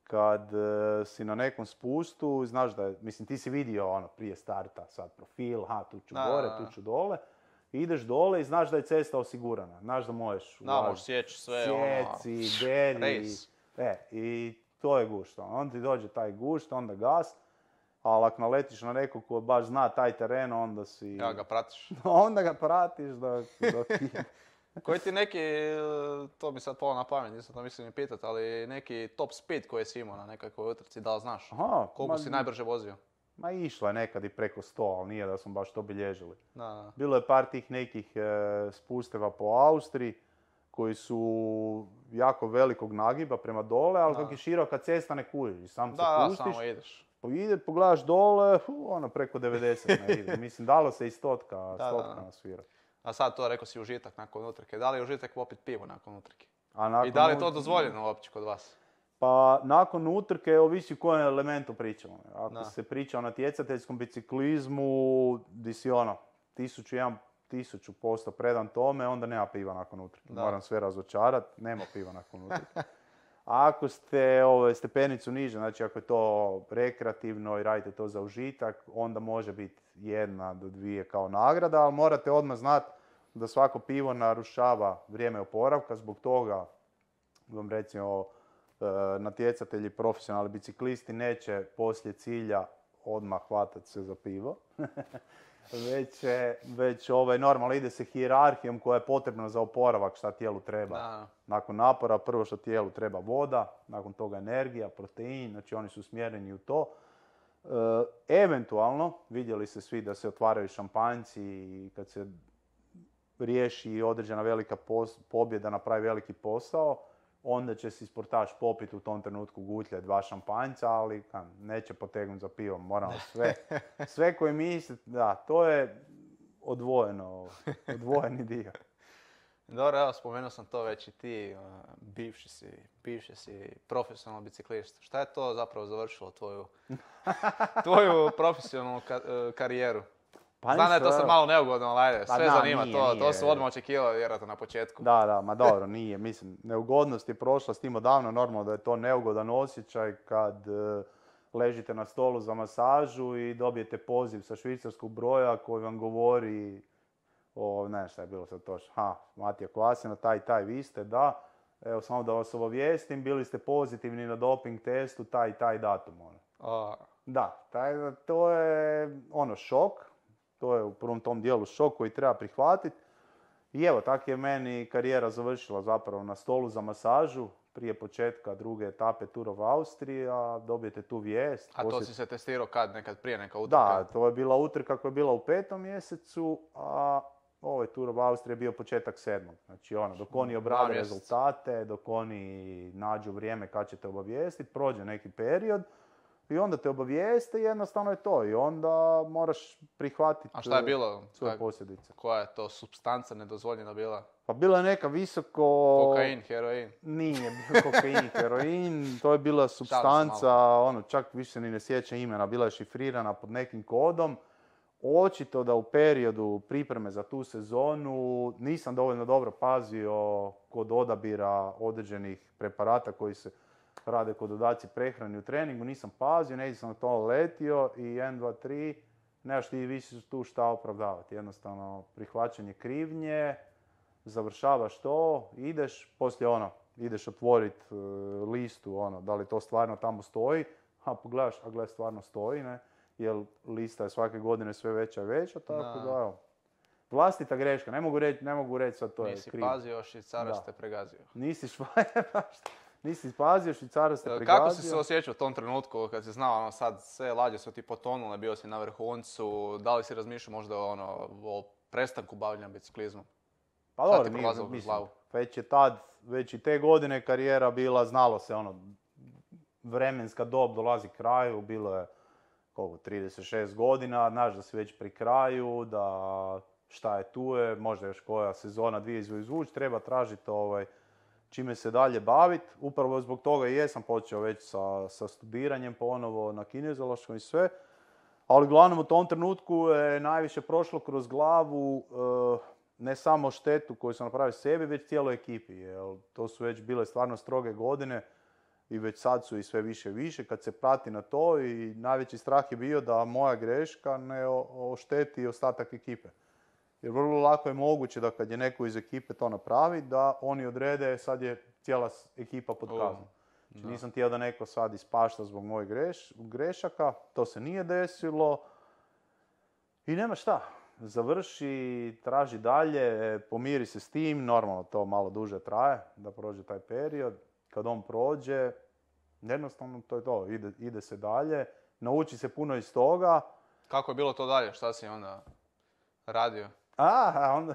kad si na nekom spustu, znaš da je, mislim ti si vidio prije starta sad profil, tu ću gore, tu ću dole. Ideš dole i znaš da je cesta osigurana. Znaš da možeš sjeći sve, sjeci, deri. I to je gušt. Onda ti dođe taj gušt, onda gas. Ali ako naletiš na nekog ko baš zna taj teren, onda si... Ja ga pratiš. Onda ga pratiš dok... Koji ti neki, to mi sad palo na pamet, nisam to mislim ni pitat, ali neki top speed koji si imao na nekakvoj utrci, da li znaš? Koliko si najbrže vozio? Ma išlo je nekad i preko 100, ali nije da smo baš to bilježili. Da. Bilo je par tih nekih spusteva po Austriji koji su jako velikog nagiba prema dole, ali kako je široka cesta ne kužiš. Sam se pustiš, samo ideš. Pogledaš dole, preko 90 ne ide. Mislim, dalo se i stotka nasvirati. A sad to rekao si užitak nakon utrke. Da li je užitak popit pivo nakon utrke? I da li je to dozvoljeno uopće kod vas? Pa nakon utrke ovisi u kojem elementu pričamo. Ako se priča o natjecateljskom biciklizmu, di si 1000% predan tome, onda nema piva nakon utrke. Moram sve razočarati, nema piva nakon utrke. A ako ste stepenicu niže, znači ako je to rekreativno i radite to za užitak, onda može biti 1 do 2 kao nagrada, ali morate odmah znati da svako pivo narušava vrijeme oporavka, zbog toga vam recimo natjecatelji, profesionalni biciklisti neće poslije cilja odmah hvatati se za pivo. već normalno ide se hijerarhijom koja je potrebna za oporavak šta tijelu treba. Da. Nakon napora prvo što tijelu treba voda, nakon toga energija, protein, znači oni su smjereni u to. Eventualno, vidjeli se svi da se otvaraju šampanjci i kad se riješi određena velika pobjeda, napravi veliki posao, onda će si sportaš popit u tom trenutku gutlje 2 šampanjca, ali neće potegnuti za pivom, moramo sve koji misle, da, to je odvojeni dio. Dobro, evo, spomenuo sam to već i ti, bivši si profesionalni biciklist. Šta je to zapravo završilo tvoju profesionalnu karijeru? Znam da je to sad malo neugodno, ali ajde, sve zanima, to su odmah očekivali vjerojatno na početku. Da, ma dobro, nije, mislim, neugodnost je prošla s tim odavno, normalno da je to neugodan osjećaj kad ležite na stolu za masažu i dobijete poziv sa švicarskog broja koji vam govori ne šta je bilo sad točno, Matija Kvasina, taj, vi ste, da, evo samo da vas obavijestim, bili ste pozitivni na doping testu, taj datum, Da, to je šok, to je u prvom tom dijelu šok koji treba prihvatiti. I evo, tako je meni karijera završila zapravo na stolu za masažu, prije početka druge etape Tour of Austria, dobijete tu vijest. A to si se testirao kad? Nekad prije neka utrka? Da, to je bila utrka koja je bila u 5. mjesecu, a ovaj Tour of Austria je bio početak 7. Znači dok oni obrade rezultate, dok oni nađu vrijeme kad će te obavijestiti, prođe neki period i onda te obavijeste i jednostavno je to. I onda moraš prihvatiti šta je bilo? Svoje posljedice. Koja je to supstanca nedozvoljena bila? Pa bila je neka visoko... Kokain, heroin? Nije bio kokain, heroin. To je bila supstanca, čak više ni ne sjećam imena. Bila je šifrirana pod nekim kodom. Očito da u periodu pripreme za tu sezonu nisam dovoljno dobro pazio kod odabira određenih preparata koji se rade kod dodaci prehrani u treningu. Nisam pazio, negdje sam na to letio i 1, 2, 3, nemaš ti više tu šta opravdavati. Jednostavno prihvaćanje krivnje, završavaš to, ideš otvoriti listu, da li to stvarno tamo stoji, pogledaš, stvarno stoji, ne? Jer lista je svake godine sve veća i veća, tako da, evo. Vlastita greška, ne mogu reći sad to je krivo. Nisi pazio, Švicarac te pregazio. Nisi pazio, Švicarac te pregazio. Kako si se osjećao u tom trenutku kad si znao, sad sve lađe su ti potonule, bio si na vrhuncu, da li si razmišljao možda o prestanku bavljenja biciklizmom? Pa dobro, mislim, već i te godine karijera bila, znalo se vremenska dob dolazi kraju, bilo je 36 godina, znaš da si već pri kraju, da šta je tu je, možda još koja sezona, 2 izvući, treba tražiti čime se dalje baviti. Upravo zbog toga i jesam počeo već sa studiranjem ponovo na kinezološkom i sve. Ali uglavnom u tom trenutku je najviše prošlo kroz glavu ne samo štetu koju sam napravio sebi, već cijeloj ekipi. Jer to su već bile stvarno stroge godine i već sad su i sve više i više kad se prati na to i najveći strah je bio da moja greška ne ošteti ostatak ekipe. Jer vrlo lako je moguće da kad je neko iz ekipe to napravi, da oni odrede sad je cijela ekipa pod kaznom. Znači nisam htio da neko sad ispašta zbog mojih grešaka, to se nije desilo i nema šta. Završi, traži dalje, pomiri se s tim, normalno to malo duže traje da prođe taj period. Kad on prođe, jednostavno to je to, ide se dalje, nauči se puno iz toga. Kako je bilo to dalje? Šta si onda radio? Onda,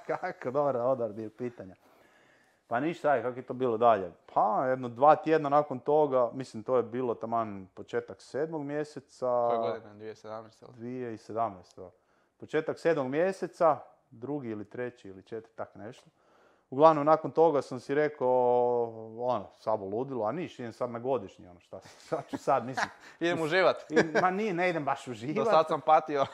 kako dobar odgovor bio pitanja. Pa ništa, kako je to bilo dalje? Pa, 2 tjedna nakon toga, mislim to je bilo taman početak 7. mjeseca. Koje godine? 2017? 2017. Početak 7. mjeseca, 2. ili 3. ili 4. tak nešto. Uglavnom, nakon toga sam si rekao, sabo ludilo, a idem sad na godišnji, šta ću sad, mislim. Idem uživat. Ne idem baš uživat. Do sad sam patio.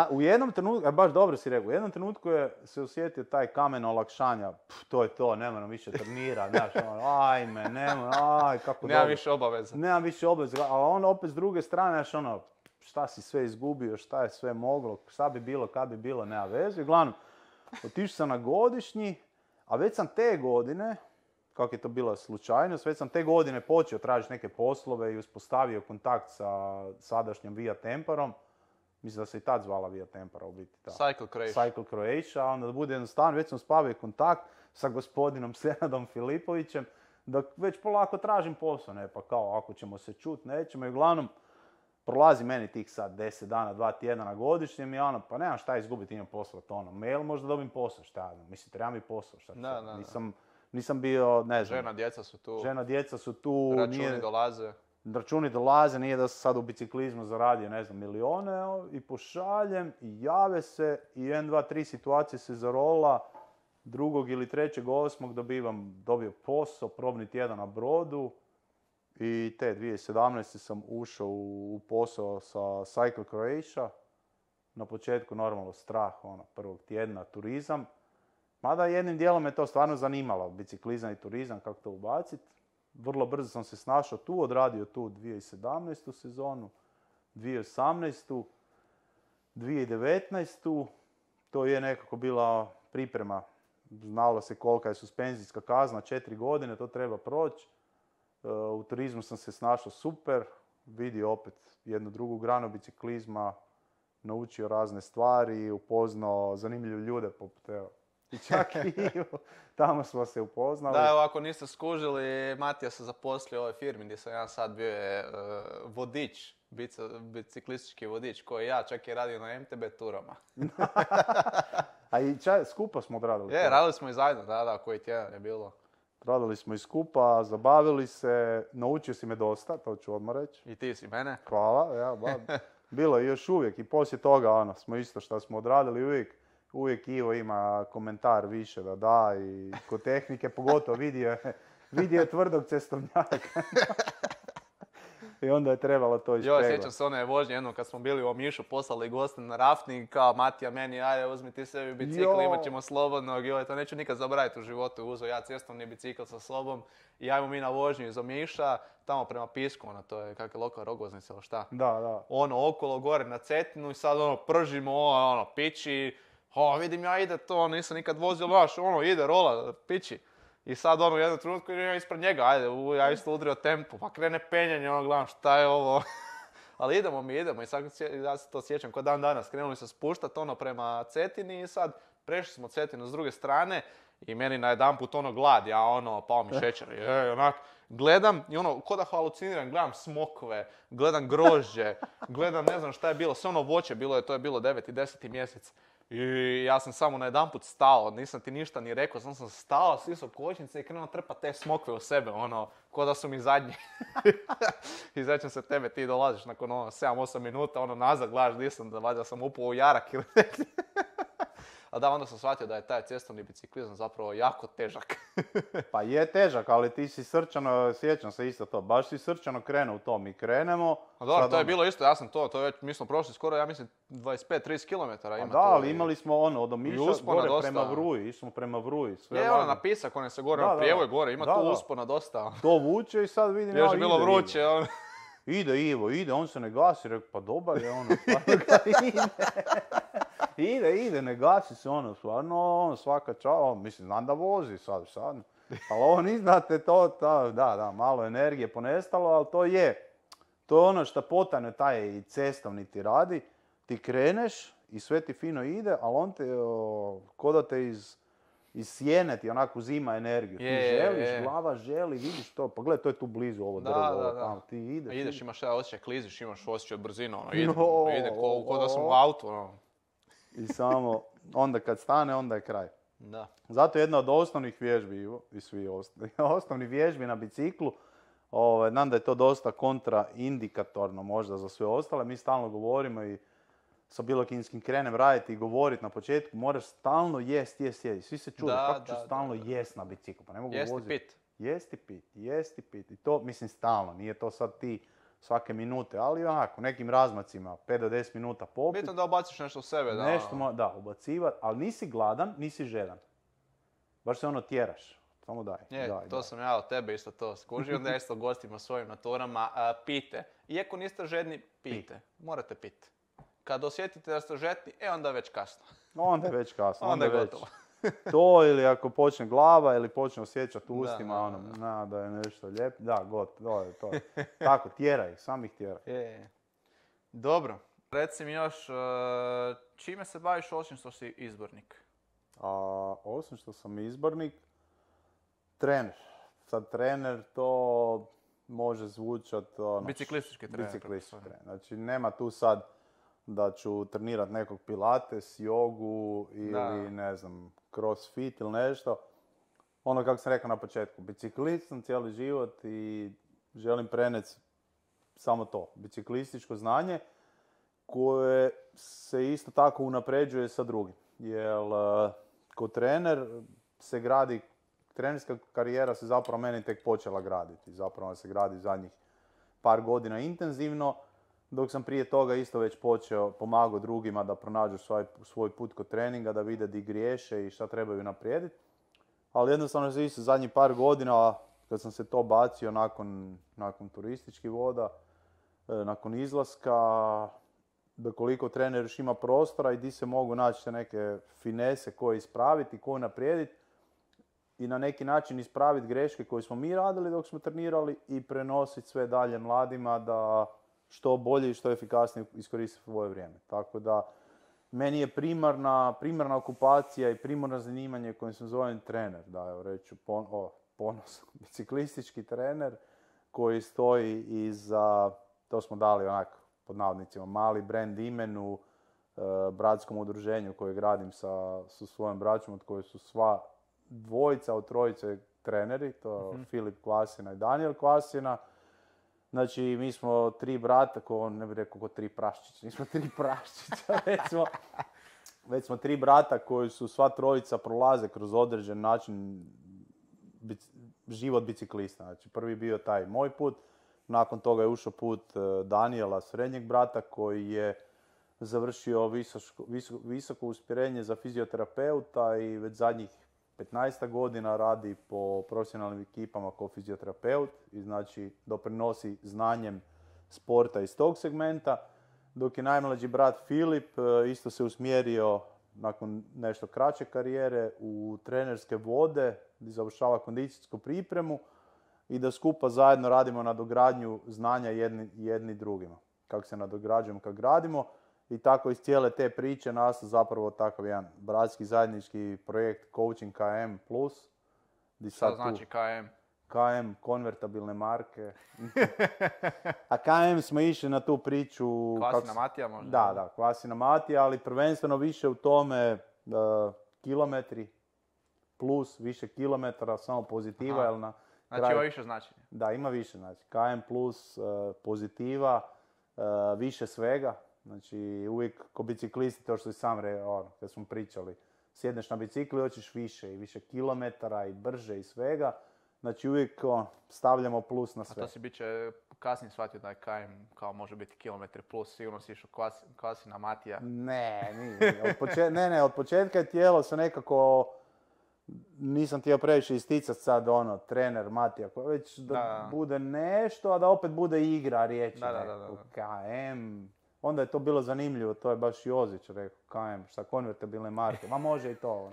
U jednom trenutku, baš dobro si rekao, u jednom trenutku se osjetio taj kamen olakšanja, to je to, ne moram više trenirati, znaš, kako dobro. Nemam više obaveza. Ali onda opet s druge strane, šta si sve izgubio, šta je sve moglo, šta bi bilo, kad bi bilo, nema veze. Uglavnom, otišao sam na godišnji, a već sam te godine, kako je to bila slučajnost, već sam te godine počeo tražiti neke poslove i uspostavio kontakt sa sadašnjom Via Temparom. Mislim da se i tad zvala Via Tempora u biti. Cycle Croatia, onda da bude jednostavno, već sam spavio kontakt sa gospodinom Senadom Filipovićem, da već polako tražim posao, ne pa kao ako ćemo se čut, nećemo i uglavnom prolazi meni tih sad 10 dana, 2 tjedna na godišnjem i pa nemam šta izgubiti, imam poslat mail, možda dobim posao, šta, mislim, treba mi posao, šta, nisam bio, ne znam, Žena, djeca su tu, žena, djeca su tu, računi dolaze. računi dolaze, nije da sam sad u biciklizmu zaradio, ne znam, milione, i pošaljem, i jave se, i 1, 2, 3 situacije se zarola, 2. ili 3.8. dobio posao, probni tjedan na brodu, i te 2017. sam ušao u posao sa Cycle Croatia. Na početku normalno strah, prvog tjedna, turizam. Mada jednim dijelom me to stvarno zanimalo, biciklizam i turizam, kako to ubaciti. Vrlo brzo sam se snašao tu, odradio tu 2017. sezonu, 2018. 2019. To je nekako bila priprema. Znalo se kolika je suspenzijska kazna, 4 godine, to treba proći. U turizmu sam se snašao super, vidio opet jednu drugu granu biciklizma, naučio razne stvari, upoznao zanimljive ljude poput i čak i tamo smo se upoznali. Da, evo ako niste skužili, Matija se zaposlio u ovoj firmi gdje sam ja sad bio je vodič, biciklistički vodič koji ja čak je radio na MTB turama. A i skupa smo odradili. Radili smo i zajedno, da, koji tjedan je bilo. Radili smo i skupa, zabavili se, naučio si me dosta, to ću odmah reći. I ti si mene. Hvala, bilo je još uvijek i poslije toga smo isto što smo odradili uvijek Ivo ima komentar više da i kod tehnike pogotovo vidio je tvrdog cestovnjaka. I onda je trebalo to ispeglati. Sjećam se one vožnje jednom kad smo bili u Omišu, poslali goste na rafting, kao Matija meni, ajde uzmi ti sebi bicikl, imat ćemo slobodnog, to neću nikad zaboraviti u životu, uzeo ja cestovni bicikl sa sobom i ajmo mi na vožnju iz Omiša, tamo prema Pisku, to je kakve lokal Rogoznica ili šta. Da. Okolo gore na Cetinu i sad pržimo, pići, vidim ja ide to, nisam nikad vozio baš, ide rola, pići. I sad u jednom trenutku ja ispred njega, ja isto udrio tempo, pa krene penjanje, gledam šta je ovo. Ali idemo i sad ja se to sjećam ko dan danas, krenuli se spuštat prema Cetini i sad prešli smo Cetinu s druge strane i meni na jedanput glad, ja pao mi šećer, gledam i ko da haluciniram, gledam smokve, gledam grožđe, gledam ne znam šta je bilo, sve voće to je bilo 9. i 10. mjesec. I ja sam samo na jedanput stao, nisam ti ništa ni rekao, sam stao, sisao kočnice i krenuo trpati te smokve u sebe, ko da su mi zadnji. I sjećam se tebe, ti dolaziš nakon 7-8 minuta, nazad gledaš di sam, da valjda sam upao u jarak ili neki. A da, onda sam shvatio da je taj cestovni biciklizam zapravo jako težak. Pa je težak, ali ti si srčano, sjećam se isto to, baš si srčano krenuo u to, mi krenemo. A dobro, to je bilo isto, ja sam to već, mi smo prošli skoro, ja mislim, 25-30 km ima to. Da, ali imali smo od Omiša gore prema Vruji, išli smo prema Vruji. Na Pisak, se gore, prijevoj gore, ima tu uspona dosta. To vuče i sad vidim još je bilo vruće, Ide Ivo, on se ne gasi, rekao, pa dobar je ide, ne gasi se stvarno, svaka čao, mislim, znam da vozi sad, ali ovo ni znate da, malo energije ponestalo, ali to je što potajno taj i cestovni ti radi, ti kreneš i sve ti fino ide, ali on te, ko da te iz sjene ti onako uzima energiju, ti želiš, glava želi, vidiš to, pa gledaj, to je tu blizu ovo drvo, tamo, ti ideš. Ideš, imaš taj osjećaj, kliziš, imaš osjećaj brzinu, ide ko da sam u autu, I samo, onda kad stane, onda je kraj. Da. Zato jedna od osnovnih vježbi, i svi osnovnih vježbi na biciklu, znam da je to dosta kontraindikatorno možda za sve ostale, mi stalno govorimo i sa bilo kim krenem raditi i govoriti na početku, moraš stalno jesti. Svi se čude, kako ću stalno jest na biciklu, pa ne mogu voziti. Jesti pit. I to, mislim, stalno, nije to sad ti svake minute, ali onako, nekim razmacima, 5 do 10 minuta popit. Bitno da ubaciš nešto u sebe, da. Nešto, ubacivat, ali nisi gladan, nisi žedan. Baš se tjeraš. Samo daj. To sam ja od tebe isto to skužio, onda ja isto gostima svojim na turama, pijte. Iako niste žedni, pijte. Morate piti. Kad osjetite da ste žedni, onda je već kasno. Onda je već kasno. Onda je gotovo. To ili ako počne glava ili počne osjećati u ustima, da je nešto lijepo. Da, gotovo, to je. Tako, tjeraj, sam ih tjeraj. Dobro. Reci mi još, čime se baviš osim što si izbornik? Osim što sam izbornik, trener. Sad trener to može zvučat... Biciklistički trener. Znači nema tu sad da ću trenirat nekog pilates, jogu ili ne znam, crossfit ili nešto. ono kako sam rekao na početku, biciklist sam cijeli život i želim preneti samo to, biciklističko znanje koje se isto tako unapređuje sa drugim. Jer kao trener se gradi, trenerska karijera se zapravo meni tek počela graditi. Zapravo se gradi zadnjih par godina intenzivno, dok sam prije toga isto već počeo pomagao drugima da pronađu svoj put kod treninga, da vide di griješe i šta trebaju naprijediti. Ali jednostavno se isto zadnjih par godina, kad sam se to bacio nakon turističkih voda, nakon izlaska, da koliko trener još ima prostora i di se mogu naći neke finese koje ispraviti, koje naprijediti i na neki način ispraviti greške koje smo mi radili dok smo trenirali i prenositi sve dalje mladima da što bolje i što efikasnije iskoriste svoje vrijeme. Tako da meni je primarna okupacija i primarno zanimanje kojim se zovem trener, da evo reću ponos, biciklistički trener koji stoji iza, to smo dali onako pod navodnicima, mali brand imenu, bratskom udruženju koje gradim sa svojom braćom, od koje su sva dvojica od trojice treneri, to je Filip Kvasina i Daniel Kvasina. Znači, mi smo tri brata, ne bih rekao ko tri praščića, nismo tri praščića, već smo tri brata koji su sva trojica prolaze kroz određen način život biciklista. Znači, prvi bio taj moj put, nakon toga je ušao put Daniela, srednjeg brata, koji je završio visoko uspjerenje za fizioterapeuta i već zadnjih 15 godina radi po profesionalnim ekipama kao fizioterapeut i znači doprinosi znanjem sporta iz tog segmenta, dok je najmlađi brat Filip isto se usmjerio nakon nešto kraće karijere u trenerske vode gdje završava kondicijsku pripremu i da skupa zajedno radimo na dogradnju znanja jedni drugima. Kako se nadograđujemo kad gradimo. I tako iz cijele te priče nastao zapravo takav jedan bratski zajednički projekt Coaching KM+. Šta znači KM? KM, konvertabilne marke. A KM smo išli na tu priču... Kvasina Matija možda? Da, Kvasina Matija, ali prvenstveno više u tome kilometri plus, više kilometara, samo pozitiva. Jel znači ima više značenja? Da, ima više znači. KM plus, pozitiva, više svega. Znači, uvijek ko biciklisti, to što si sam kad smo pričali, sjedneš na bicikli, hoćeš više i više kilometara i brže i svega. Znači, uvijek stavljamo plus na sve. A to si biće kasnije shvatio da je KM kao može biti kilometri plus, sigurno si išao Kvasina Matija. Ne, nije. Od početka je tijelo se nekako, nisam htio previše isticati sad trener Matija, već da bude nešto, a da opet bude igra riječi. KM... Onda je to bilo zanimljivo, to je baš Jozić rekao, KM, šta konvertabilne marke, ma može i to.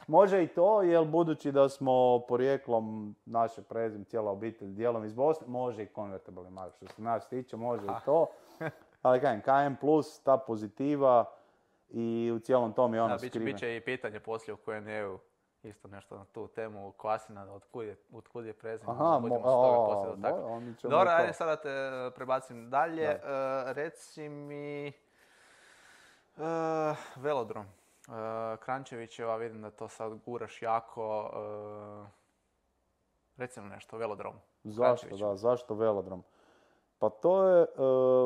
Može i to, jer budući da smo porijeklom naše prezime, cijela obitelj, dijelom iz Bosne, može i konvertabilne marke. Što se nas tiče, može i to. Ali KM plus, ta pozitiva i u cijelom tom je ono skriveno. Biće i pitanje poslije u Q&A-u. Isto nešto na tu temu Kvasina, otkud je prezime. Dobro, ajde sada te prebacim dalje. Reci mi velodrom. Krančevićeva, vidim da to sad guraš jako. Reci mi nešto o velodromu. Zašto velodrom? Pa to je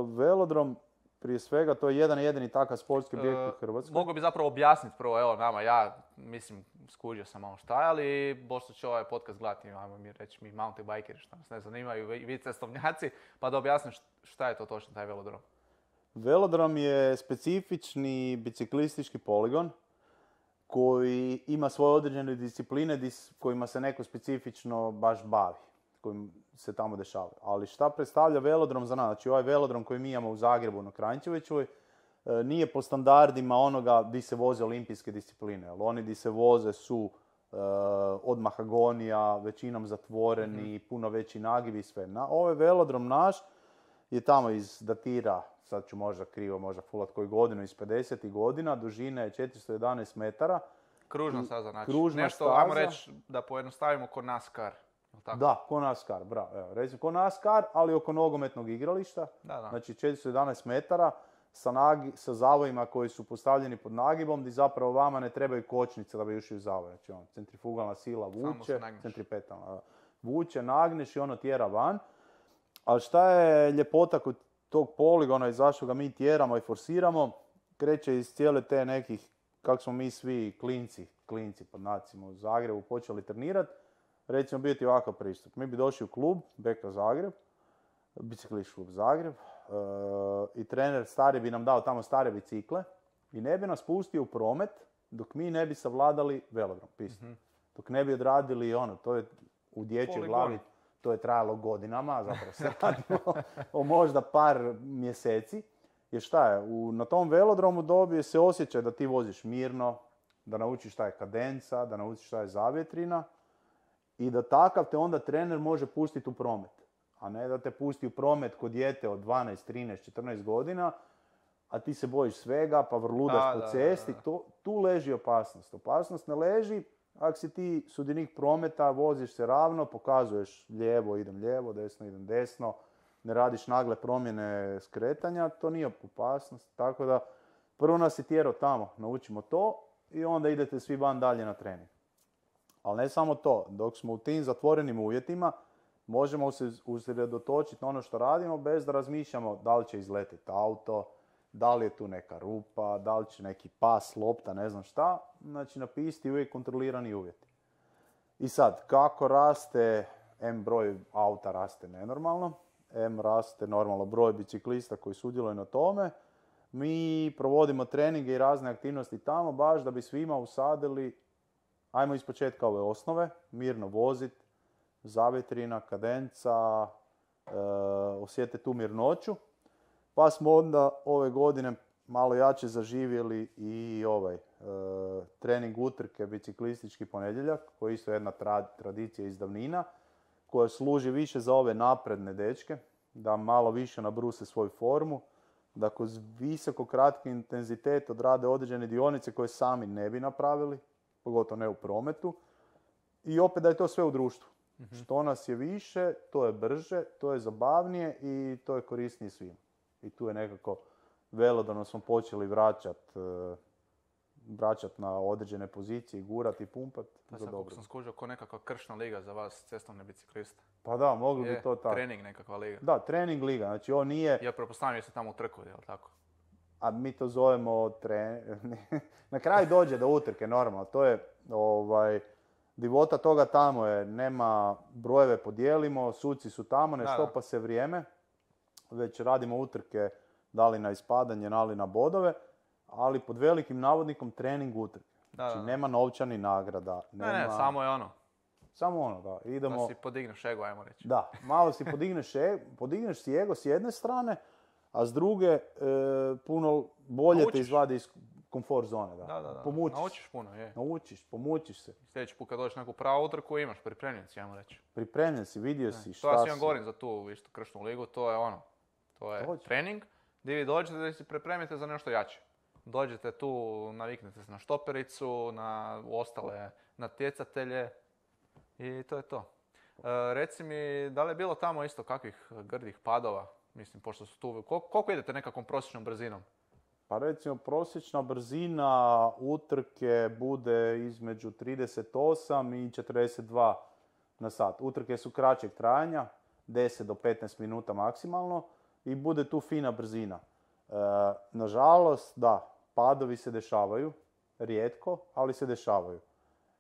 velodrom. Prije svega, to je jedan jedini takav sportski objekt u Hrvatskoj. Mogu bi zapravo objasniti prvo, evo nama, ja mislim, skužio sam malo šta je, ali pošto će ovaj podcast gledati, ajmo mi reći, mi mountain bikeri, što nas ne zanimaju, vi cestovnjaci, pa da objasniš šta je to točno taj velodrom. Velodrom je specifični biciklistički poligon koji ima svoje određene discipline kojima se neko specifično baš bavi, kojim se tamo dešava. Ali šta predstavlja velodrom za nas? Znači ovaj velodrom koji mi imamo u Zagrebu na Kranjčevićevoj nije po standardima onoga di se voze olimpijske discipline. Ali oni di se voze su od mahagonija, većinom zatvoreni, puno veći nagivi i sve. Ovaj velodrom naš je tamo datira, sad ću možda krivo, možda fulat koju godinu, iz 50. godina, dužine je 411 metara. Kružna staza, znači. Nešto, ajmo reći da pojednostavimo ko NASCAR. Tako? Da, ko NASCAR, bravo. Recimo ko NASCAR, ali oko nogometnog igrališta. Da. Znači 411 metara. sa zavojima koji su postavljeni pod nagibom, gdje zapravo vama ne trebaju kočnice da bi ušli u zavoj. Znači, centrifugalna sila vuče, centripetalna vuče, nagneš i ono tjera van. Ali šta je ljepota kod tog poligona i zašto ga mi tjeramo i forsiramo, kreće iz cijele te nekih, kako smo mi svi klinci pod nacima u Zagrebu počeli trenirati, recimo biti ovakav pristup. Mi bi došli u klub, Beka Zagreb, biciklistički klub Zagreb, i trener stari bi nam dao tamo stare bicikle i ne bi nas pustio u promet dok mi ne bi savladali velodrom, pistu. Dok ne bi odradili to je u dječjoj glavi, to je trajalo godinama, zapravo se radilo o možda par mjeseci. Jer šta je, na tom velodromu dobije se osjećaj da ti voziš mirno, da naučiš šta je kadenca, da naučiš šta je zavjetrina i da takav te onda trener može pustiti u promet. A ne da te pusti u promet kod dijete od 12, 13, 14 godina, a ti se bojiš svega pa vrludaš po cesti. Tu leži opasnost. Opasnost ne leži ako si ti sudionik prometa, voziš se ravno, pokazuješ lijevo, desno idem desno, ne radiš nagle promjene skretanja, to nije opasnost. Tako da prvo nas je tjerao tamo, naučimo to i onda idete svi van dalje na trening. Ali ne samo to, dok smo u tim zatvorenim uvjetima, možemo se usredotočiti na ono što radimo bez da razmišljamo da li će izletiti auto, da li je tu neka rupa, da li će neki pas, lopta, ne znam šta. Znači napisati uvijek kontrolirani uvjeti. I sad, kako raste, broj auta raste nenormalno, raste normalno broj biciklista koji sudjeluju na tome. Mi provodimo treninge i razne aktivnosti tamo baš da bi svima usadili, ajmo ispočetka ove osnove, mirno vozit, zavjetrina, kadenca, osjete tu mirnoću. Pa smo onda ove godine malo jače zaživjeli i trening utrke biciklistički ponedjeljak, koji je isto jedna tradicija iz davnina, koja služi više za ove napredne dečke, da malo više nabruse svoju formu, da kroz visoko kratki intenzitet odrade određene dionice koje sami ne bi napravili, pogotovo ne u prometu, i opet da je to sve u društvu. Što nas je više, to je brže, to je zabavnije i to je korisnije svima. I tu je nekako velodorno smo počeli vraćat na određene pozicije, gurat i pumpat za dobro. Kako sam skužio, ko nekakva kršna liga za vas, cestovne bicikliste. Pa da, mogli bi to tako. Trening nekakva liga. Da, trening liga, znači on nije... Ja pretpostavljam se tamo utrkuje, jel tako? A mi to zovemo na kraju dođe do utrke, normalno. To je, divota toga tamo je, nema brojeve podijelimo, suci su tamo, ne štopa se vrijeme. Već radimo utrke, da li na ispadanje, da li na bodove, ali pod velikim navodnikom trening utrke. Znači nema novčani nagrada. Ne, samo je ono. Samo ono, da. Idemo... Da si podigneš ego, ajmo reći. Da, malo si podigneš si ego s jedne strane, a s druge puno bolje te izvadi iz komfort zone. Da. Naučiš puno, je. Pomučiš se. Sljedeći put kad dođeš na neku pravu utrku imaš, pripremljen si, ajmo reći. Pripremljen si, vidio si šta to ja si govorim za tu isto kršnu ligu, to je ono. To je trening gdje vi dođete da se pripremite za nešto jače. Dođete tu, naviknete se na štopericu, na ostale natjecatelje i to je to. Reci mi, da li je bilo tamo isto kakvih grdih padova? Mislim, pošto su tu... Koliko idete nekakvom prosječnom brzinom? Pa recimo, prosječna brzina utrke bude između 38 i 42 na sat. Utrke su kraćeg trajanja, 10 do 15 minuta maksimalno i bude tu fina brzina. Nažalost, da, padovi se dešavaju, rijetko, ali se dešavaju.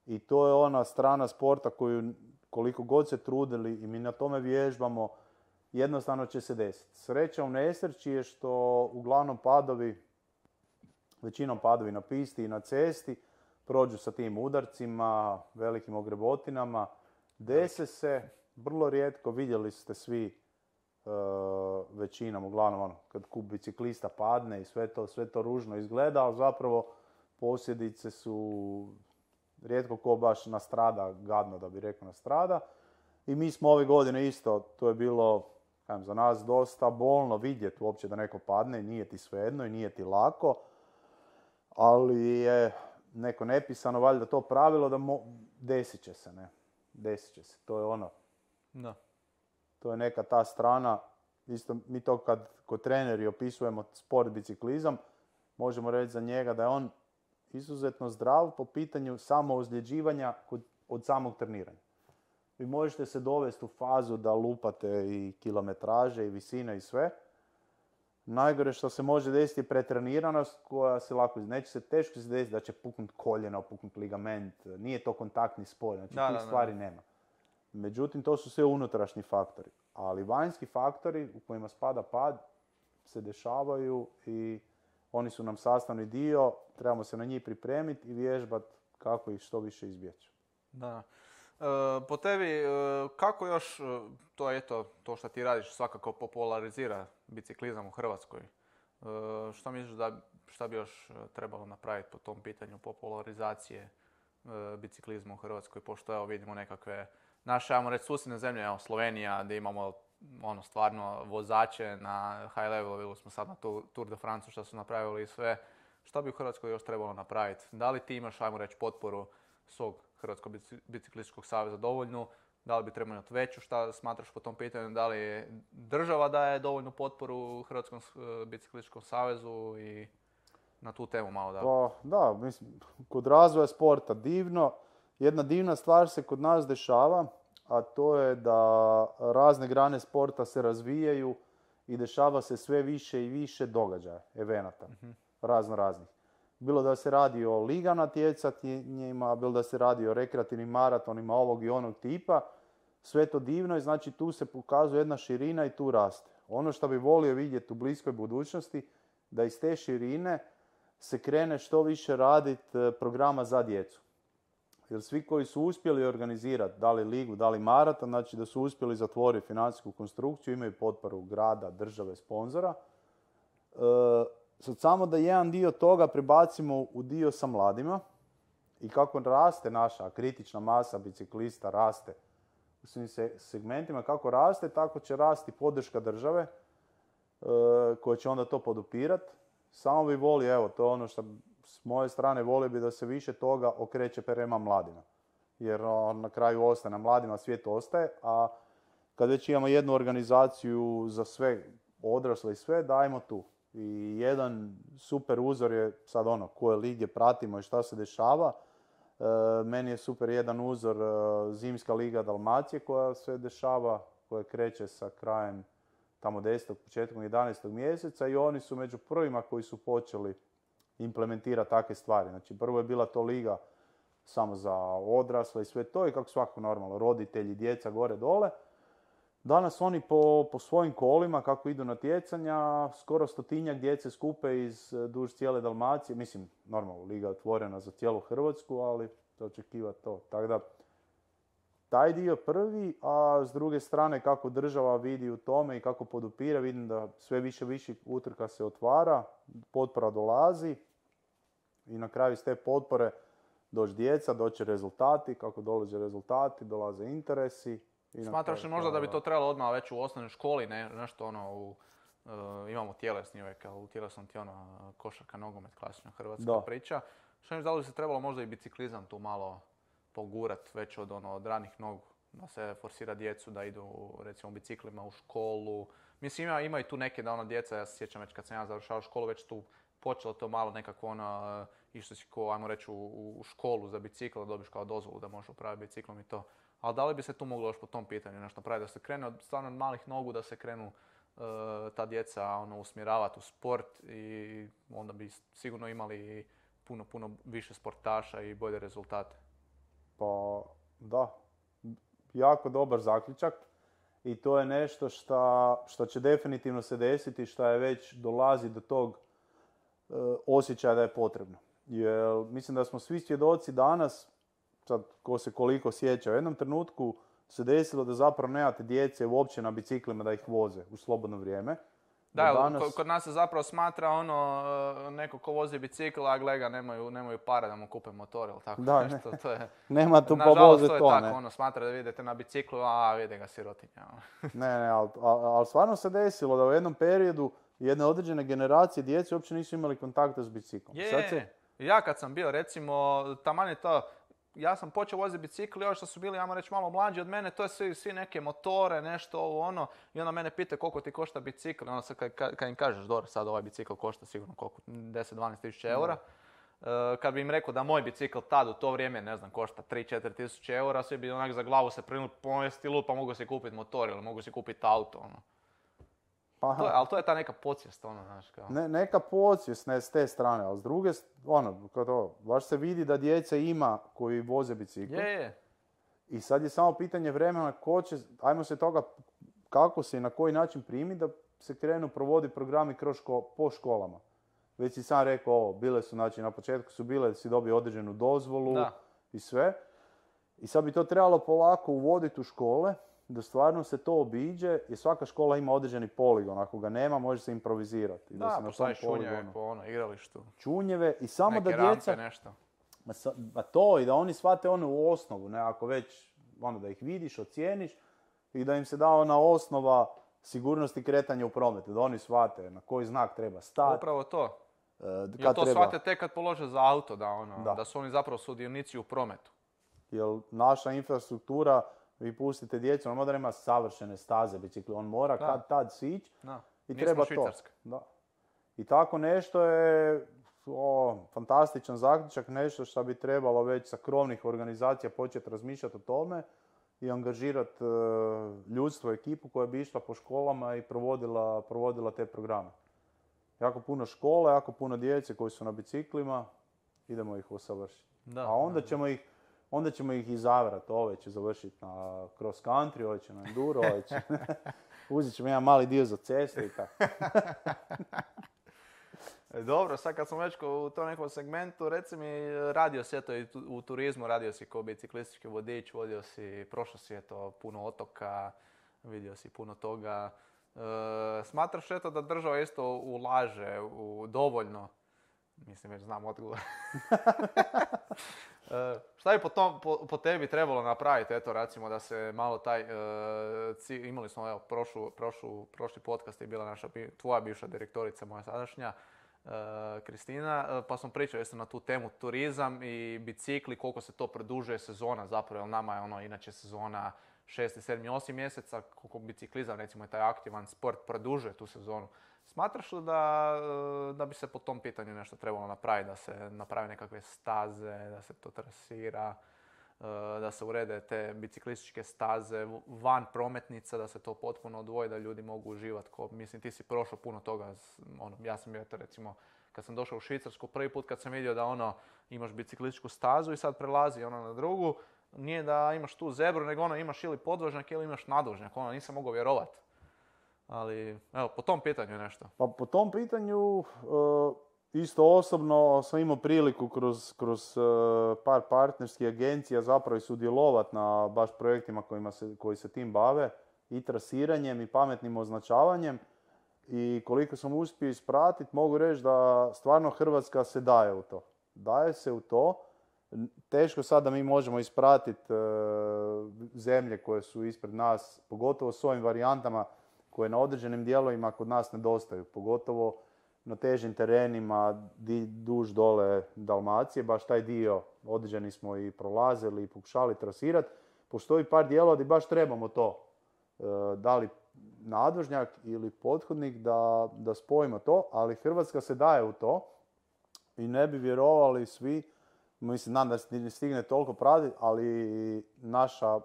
I to je ona strana sporta koju koliko god se trudili i mi na tome vježbamo, jednostavno će se desiti. Sreća u nesreći je što uglavnom većinom padovi na pisti i na cesti prođu sa tim udarcima, velikim ogrebotinama. Dese se, vrlo rijetko, vidjeli ste svi većinom, uglavnom kad kup biciklista padne i sve to ružno izgleda, ali zapravo posljedice su rijetko ko baš nastrada, gadno da bi rekao nastrada. I mi smo ove godine isto, to je bilo za nas dosta bolno vidjeti uopće da neko padne, nije ti svejedno i nije ti lako, ali je neko nepisano valjda to pravilo da desit će se, ne? Desit će se, to je ono. Da. To je neka ta strana isto mi to kad kod treneri opisujemo sport biciklizam, možemo reći za njega da je on izuzetno zdrav po pitanju samoozljeđivanja od samog treniranja. Vi možete se dovesti u fazu da lupate i kilometraže i visine i sve. Najgore što se može desiti je pretreniranost koja se lako, teško se desiti da će puknut koljeno, puknut ligament, nije to kontaktni sport, znači tih stvari nema. Međutim, to su sve unutrašnji faktori, ali vanjski faktori u kojima spada pad se dešavaju i oni su nam sastavni dio, trebamo se na njih pripremiti i vježbati kako ih što više izbjeći. Da. Po tebi, kako još to što ti radiš svakako popularizira biciklizam u Hrvatskoj? Što misliš šta bi još trebalo napraviti po tom pitanju popularizacije biciklizma u Hrvatskoj, pošto evo vidimo nekakve naše, ajmo reći, susjedne zemlje, evo Slovenija, gdje imamo stvarno vozače na high level, vidjeli smo sad na Tour de France što su napravili i sve. Što bi u Hrvatskoj još trebalo napraviti? Da li ti imaš, ajmo reći, potporu svog Hrvatskog biciklističkog saveza dovoljnu? Da li bi trebalo imati veću? Šta smatraš po tom pitanju? Da li država daje dovoljnu potporu Hrvatskom biciklističkom savezu i na tu temu malo da? Pa, da, mislim, kod razvoja sporta divno. Jedna divna stvar se kod nas dešava, a to je da razne grane sporta se razvijaju i dešava se sve više i više događaja, evenata, raznih. Bilo da se radi o liga natjecanjima, bilo da se radi o rekreativnim maratonima ovog i onog tipa, sve to divno i znači tu se pokazuje jedna širina i tu raste. Ono što bi volio vidjeti u bliskoj budućnosti, da iz te širine se krene što više raditi programa za djecu. Jer svi koji su uspjeli organizirati, da li ligu, da li maraton, znači da su uspjeli zatvoriti financijsku konstrukciju, imaju potporu grada, države, sponzora. Sad samo da jedan dio toga prebacimo u dio sa mladima i kako raste naša kritična masa biciklista, raste u svim segmentima, kako raste, tako će rasti podrška države koja će onda to podupirati. Samo bi volio, evo, to je ono što s moje strane volio bi da se više toga okreće prema mladima. Jer na kraju ostaje na mladima, svijet ostaje, a kad već imamo jednu organizaciju za sve odrasle i sve, dajmo tu. I jedan super uzor je sad koje lige pratimo i šta se dešava. Meni je super jedan uzor Zimska liga Dalmacije koja se dešava, koja kreće sa krajem tamo 10. početkom 11. mjeseca i oni su među prvima koji su počeli implementirati takve stvari. Znači prvo je bila to liga samo za odrasle i sve to i kako svako normalno, roditelji, djeca gore dole. Danas oni po svojim kolima, kako idu natjecanja, skoro 100-tinjak djece skupe duž cijele Dalmacije. Mislim, normalno, liga je otvorena za cijelu Hrvatsku, ali to očekiva to. Tako da, taj dio prvi, a s druge strane kako država vidi u tome i kako podupire, vidim da sve više utrka se otvara, potpora dolazi i na kraju iz te potpore doći djeca, doći rezultati, kako dolaze rezultati, dolaze interesi. Smatraš li možda da bi to trebalo odmah već u osnovnoj školi, nešto imamo tjelesni uvijek, ali u tjelesnom ti košarka, nogomet, klasična hrvatska priča. Što mi da li bi se trebalo možda i biciklizam tu malo pogurat već od ranih nogu, da se forsira djecu da idu recimo biciklima u školu. Mislim ima i tu neke da djeca, ja se sjećam već kad sam ja završao školu, već tu počelo to malo nekako išlo si ajmo reći u školu za bicikl, da dobiš kao dozvolu da možeš upraviti biciklom i to. Ali da li bi se tu moglo još po tom pitanju nešto napraviti, da se krene od stvarno malih nogu, da se krenu ta djeca usmjeravati u sport i onda bi sigurno imali puno više sportaša i bolje rezultate. Pa da, jako dobar zaključak i to je nešto što će definitivno se desiti, što je već dolazi do tog osjećaja da je potrebno. Jer mislim da smo svi svjedoci danas, sad ko se koliko sjeća, u jednom trenutku se desilo da zapravo nemate djece uopće na biciklima da ih voze u slobodno vrijeme. Da, kod nas se zapravo smatra neko ko vozi bicikl, a gleda nemaju para da mu kupe motor ili tako da, nešto. To je, nema tu pa voze to, to je tako, smatra da vidite na biciklu, a vidi ga sirotinja. ne, ali stvarno se desilo da u jednom periodu jedne određene generacije djece uopće nisu imali kontakta s biciklom. Ja kad sam bio, recimo, taman je to, ja sam počeo voziti bicikl, još što su bili, ajmo reći, malo mlađi od mene, to je svi neke motore, nešto ovo ono, i onda mene pita koliko ti košta bicikl, i onda sad kad im kažeš, dobro, sad ovaj bicikl košta sigurno koliko, 10-12 tisuća eura. Kad bi im rekao da moj bicikl tad u to vrijeme, ne znam, košta 3-4 tisuće eura, svi bi onak za glavu se prinuli, pomesti lud, pa mogu si kupiti motor ili mogu si kupiti auto, ono. Ali to je ta neka podsvijest, ono, znaš, kao. Neka podsvijest s te strane, ali s druge, baš se vidi da djece ima koji voze bicikl. Je. I sad je samo pitanje vremena ajmo se toga, kako se i na koji način primi da se krenu provoditi programi po školama. Već si sam rekao, bile su, znači na početku su bile, si dobio određenu dozvolu i sve. I sad bi to trebalo polako uvoditi u škole, da stvarno se to obiđe, jer svaka škola ima određeni poligon. Ako ga nema, može se improvizirati. Da, postaviš čunjeve po igralištu. Čunjeve i samo neke da djeca... rampe, nešto. To i da oni shvate u osnovu, ne, ako već da ih vidiš, ocijeniš i da im se da ona osnova sigurnosti kretanja u prometu, da oni shvate na koji znak treba stati. Upravo to. Jer to shvate tek kad polože za auto, da su oni zapravo sudionici u prometu. Jer naša infrastruktura, vi pustite djecu, on mora ima savršene staze bicikli, on mora kad tad sići i treba to. Da. I tako nešto je fantastičan zaključak, nešto što bi trebalo već sa krovnih organizacija početi razmišljati o tome i angažirati ljudstvo, ekipu koja bi išla po školama i provodila te programe. Jako puno škole, jako puno djece koji su na biciklima, idemo ih usavršiti. A onda ćemo ih izabrati, ove će završiti na cross country, ove će na enduro, ove će... Uzet ćemo jedan mali dio za cestu i tako. Dobro, sad kad smo već u tom nekom segmentu, reci mi, radio si eto i u turizmu, radio si kao biciklistički vodič, prošao si eto puno otoka, vidio si puno toga. Smatraš eto da država isto ulaže dovoljno? Mislim, već znam odgovor. Šta bi po tebi trebalo napraviti, eto recimo da se malo taj, imali smo evo prošli podcast je bila tvoja bivša direktorica, moja sadašnja, Kristina, pa smo pričali na tu temu turizam i bicikli, koliko se to produžuje sezona zapravo, jer nama je inače sezona 6, 7, 8 mjeseca, koliko biciklizam recimo je taj aktivan sport produžuje tu sezonu. Smatraš li da bi se po tom pitanju nešto trebalo napraviti, da se naprave nekakve staze, da se to trasira, da se urede te biciklističke staze van prometnica, da se to potpuno odvoji, da ljudi mogu uživati. Mislim, ti si prošao puno toga. Ja sam bio, recimo, kad sam došao u Švicarsku, prvi put kad sam vidio da imaš biciklističku stazu i sad prelazi na drugu, nije da imaš tu zebru, nego imaš ili podvožnjak ili imaš nadvožnjak. Nisam mogao vjerovati. Ali, evo, po tom pitanju nešto. Pa po tom pitanju, isto osobno sam imao priliku kroz par partnerskih agencija zapravo i sudjelovati na baš projektima koji se tim bave i trasiranjem i pametnim označavanjem. I koliko sam uspio ispratiti, mogu reći da stvarno Hrvatska se daje u to. Daje se u to. Teško sad da mi možemo ispratiti zemlje koje su ispred nas, pogotovo s ovim varijantama koje na određenim dijelovima kod nas nedostaju, pogotovo na težim terenima duž dole Dalmacije, baš taj dio određeni smo i prolazili i pokušali trasirati. Postoji par dijelova gdje baš trebamo to, da li nadvožnjak ili pothodnik da spojimo to, ali Hrvatska se daje u to i ne bi vjerovali svi, mislim, znam da se ne stigne toliko pratiti, ali naša,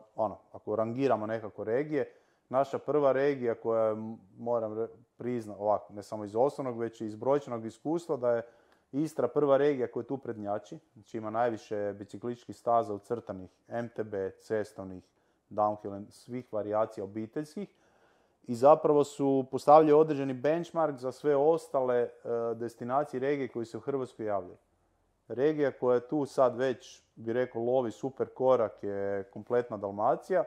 ako rangiramo nekako regije, naša prva regija koja moram priznati, ovako, ne samo iz osnovnog, već i iz brojčanog iskustva, da je Istra prva regija koja tu prednjači, znači ima najviše biciklističkih staza ucrtanih, MTB, cestovnih, downhill, svih varijacija obiteljskih i zapravo su postavljali određeni benchmark za sve ostale destinacije regije koje se u Hrvatskoj javljaju. Regija koja je tu sad već, bi rekao, lovi super korak je kompletna Dalmacija,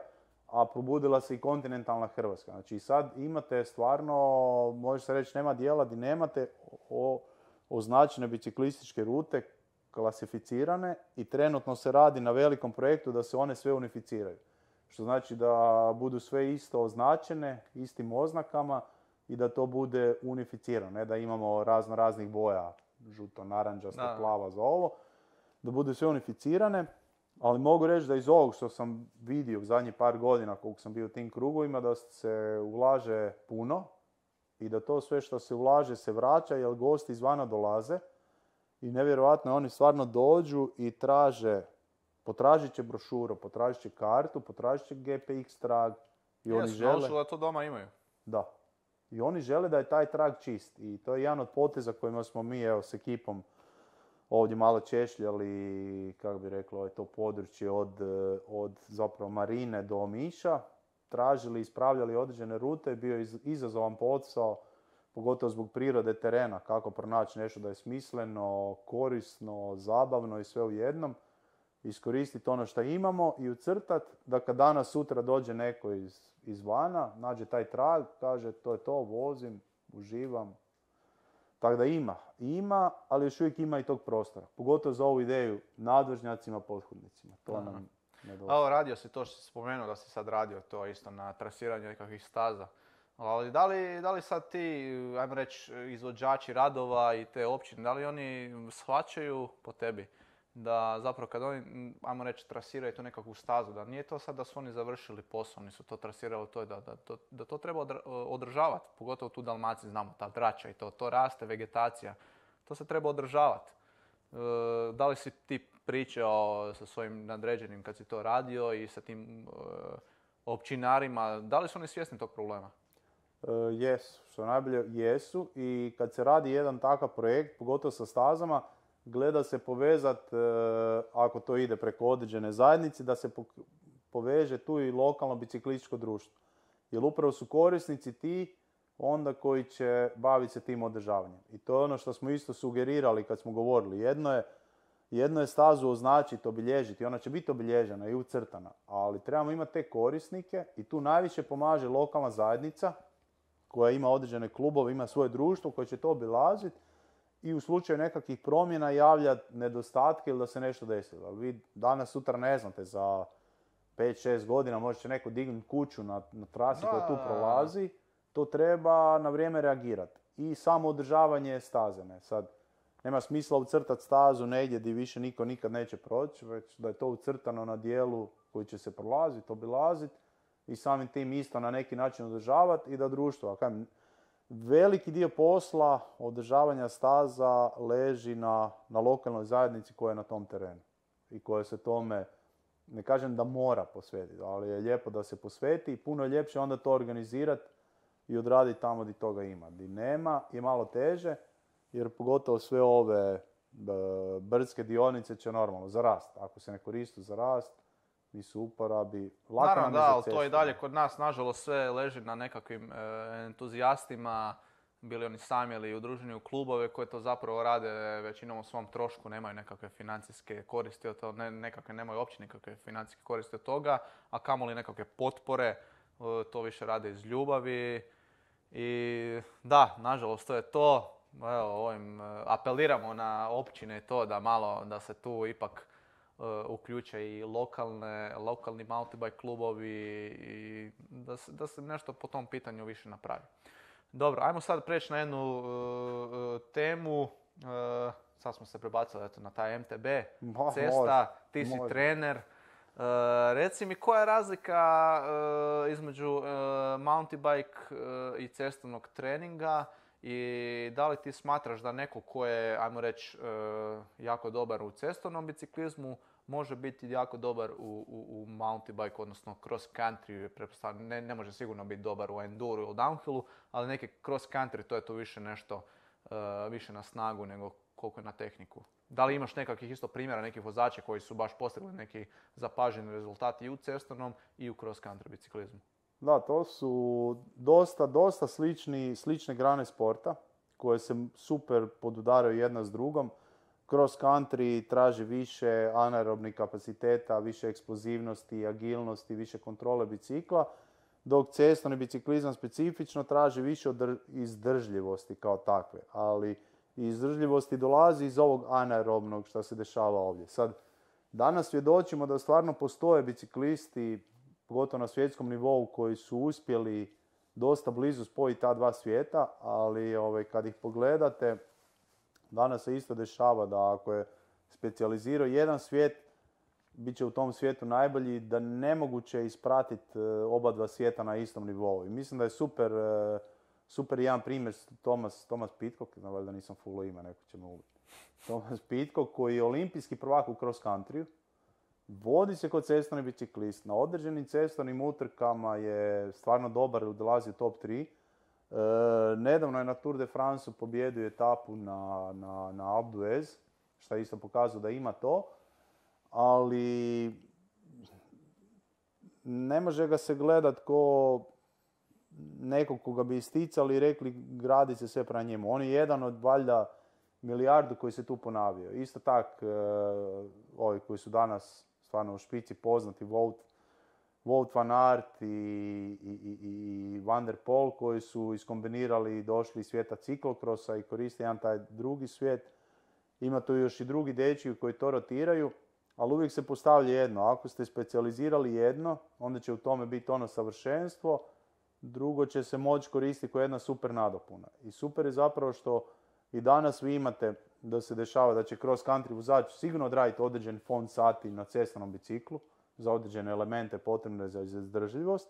a probudila se i kontinentalna Hrvatska. Znači sad imate stvarno, može se reći, nema dijela gdje nemate označene biciklističke rute, klasificirane i trenutno se radi na velikom projektu da se one sve unificiraju. Što znači da budu sve isto označene, istim oznakama i da to bude unificirano, ne da imamo raznih boja, žuto, naranđasto, plava za ovo, da budu sve unificirane Ali mogu reći da iz ovog što sam vidio u zadnjih par godina koliko sam bio u tim krugovima, da se ulaže puno i da to sve što se ulaže se vraća jer gosti izvana dolaze i nevjerojatno oni stvarno dođu i potražit će brošuru, potražit će kartu, potražit će GPX trag i oni žele... naučili da to doma imaju. Da. I oni žele da je taj trag čist i to je jedan od poteza kojima smo mi s ekipom ovdje malo češljali, kako bi reklo, to područje od zapravo Marine do Omiša, tražili, ispravljali određene rute, bio je izazovan posao, pogotovo zbog prirode terena, kako pronaći nešto da je smisleno, korisno, zabavno i sve u jednom, iskoristiti ono što imamo i ucrtati da kad danas sutra dođe neko izvana, nađe taj trag, kaže to je to, vozim, uživam. Tako da ima, ali još uvijek ima i tog prostora. Pogotovo za ovu ideju nadvožnjacima, pothodnicima. To nam nedostaje. Evo, radio si to što si spomenuo da si sad radio to isto na trasiranju nekakvih staza. Ali da li sad ti, ajmo reći, izvođači radova i te općine, da li oni shvaćaju po tebi da zapravo kad oni, ajmo reći, trasiraju tu nekakvu stazu, da nije to sad da su oni završili posao, oni su to trasirali, to je da to treba održavati, pogotovo tu u Dalmaciji znamo, ta drača i to raste, vegetacija, to se treba održavati. Da li si ti pričao sa svojim nadređenim kad si to radio i sa tim općinarima, da li su oni svjesni tog problema? Jesu, što najbolje jesu i kad se radi jedan takav projekt, pogotovo sa stazama, gleda se povezat, ako to ide preko određene zajednice, da se poveže tu i lokalno biciklističko društvo. Jer upravo su korisnici ti onda koji će baviti se tim održavanjem. I to je ono što smo isto sugerirali kad smo govorili. Jedno je stazu označiti, obilježiti, ona će biti obilježena i ucrtana, ali trebamo imati te korisnike i tu najviše pomaže lokalna zajednica koja ima određene klubove, ima svoje društvo koje će to obilaziti i u slučaju nekakvih promjena javljati nedostatke ili da se nešto desilo. Ali vi danas, sutra ne znate, za 5-6 godina možete neko dignuti kuću na trasi koja tu prolazi, to treba na vrijeme reagirati. I samo održavanje staze. Sad, nema smisla ucrtati stazu negdje gdje više niko nikad neće proći, već da je to ucrtano na dijelu koji će se prolaziti, obilaziti i samim tim isto na neki način održavati i da društvo, veliki dio posla održavanja staza leži na lokalnoj zajednici koja je na tom terenu i koja se tome, ne kažem da mora posvetiti, ali je lijepo da se posveti i puno je ljepše onda to organizirati i odraditi tamo gdje toga ima. Gdje nema je malo teže, jer pogotovo sve ove brdske dionice će normalno za rast. Ako se ne koristi za rast, nisu uporabi. Naravno da, ali to i dalje kod nas, nažalost, sve leži na nekakvim entuzijastima, bili oni sami ili udruženi u klubove koji to zapravo rade većinom u svom trošku, nemaju nekakve financijske koristi od toga, nemaju uopće nikakve financijske koristi od toga, a kamoli nekakve potpore, to više rade iz ljubavi. I da, nažalost, to je to. Evo, apeliramo na općine to da malo, da se tu ipak uključe i lokalni mountain bike klubovi i da se nešto po tom pitanju više napravi. Dobro, ajmo sad preći na jednu temu. Sad smo se prebacili na taj MTB, cesta, ti si trener. Reci mi koja je razlika između mountain bike i cestovnog treninga i da li ti smatraš da neko ko je, ajmo reći, jako dobar u cestovnom biciklizmu može biti jako dobar u mountain bike, odnosno cross country, ne može sigurno biti dobar u enduro ili downhillu, ali neki cross country to je to više nešto, više na snagu nego koliko je na tehniku. Da li imaš nekakvih isto primjera, nekih vozača koji su baš postigli neki zapaženi rezultati i u cestovnom i u cross country biciklizmu? Da, to su dosta slične grane sporta koje se super podudaraju jedna s drugom. Cross country traži više anaerobnih kapaciteta, više eksplozivnosti, agilnosti, više kontrole bicikla, dok cestovni biciklizam specifično traži više izdržljivosti kao takve. Ali izdržljivosti dolazi iz ovog anaerobnog što se dešava ovdje. Sad, danas svjedočimo da stvarno postoje biciklisti, pogotovo na svjetskom nivou, koji su uspjeli dosta blizu spojiti ta dva svijeta, ali kad ih pogledate, danas se isto dešava da ako je specijalizirao jedan svijet, bit će u tom svijetu najbolji, da nemoguće ispratiti oba dva svijeta na istom nivou. I mislim da je super jedan primjer Thomas Pidcock, valjda nisam fullo ima, neko će me ubiti. Thomas Pidcock koji je olimpijski prvak u cross country, vodi se kod cestovni biciklist, na određenim cestovnim utrkama je stvarno dobar, dolazi u top 3. Nedavno je na Tour de France pobjedio etapu na Alpe d'Huez, što isto pokazuje da ima to, ali ne može ga se gledat ko nekog koga bi isticali i rekli gradi se sve prema njemu. On je jedan od valjda milijardu koji se tu ponavio. Isto tak, ovi koji su danas stvarno u špici poznati, Wout van Aert i Van der Poel koji su iskombinirali i došli iz svijeta ciklokrosa i koriste jedan taj drugi svijet. Ima tu još i drugi dečki koji to rotiraju, ali uvijek se postavlja jedno. Ako ste specijalizirali jedno, onda će u tome biti ono savršenstvo, drugo će se moći koristiti kao jedna super nadopuna. I super je zapravo što i danas vi imate da se dešava da će cross country vozač sigurno odraditi određen fond sati na cestovnom biciklu za određene elemente potrebne za izdržljivost,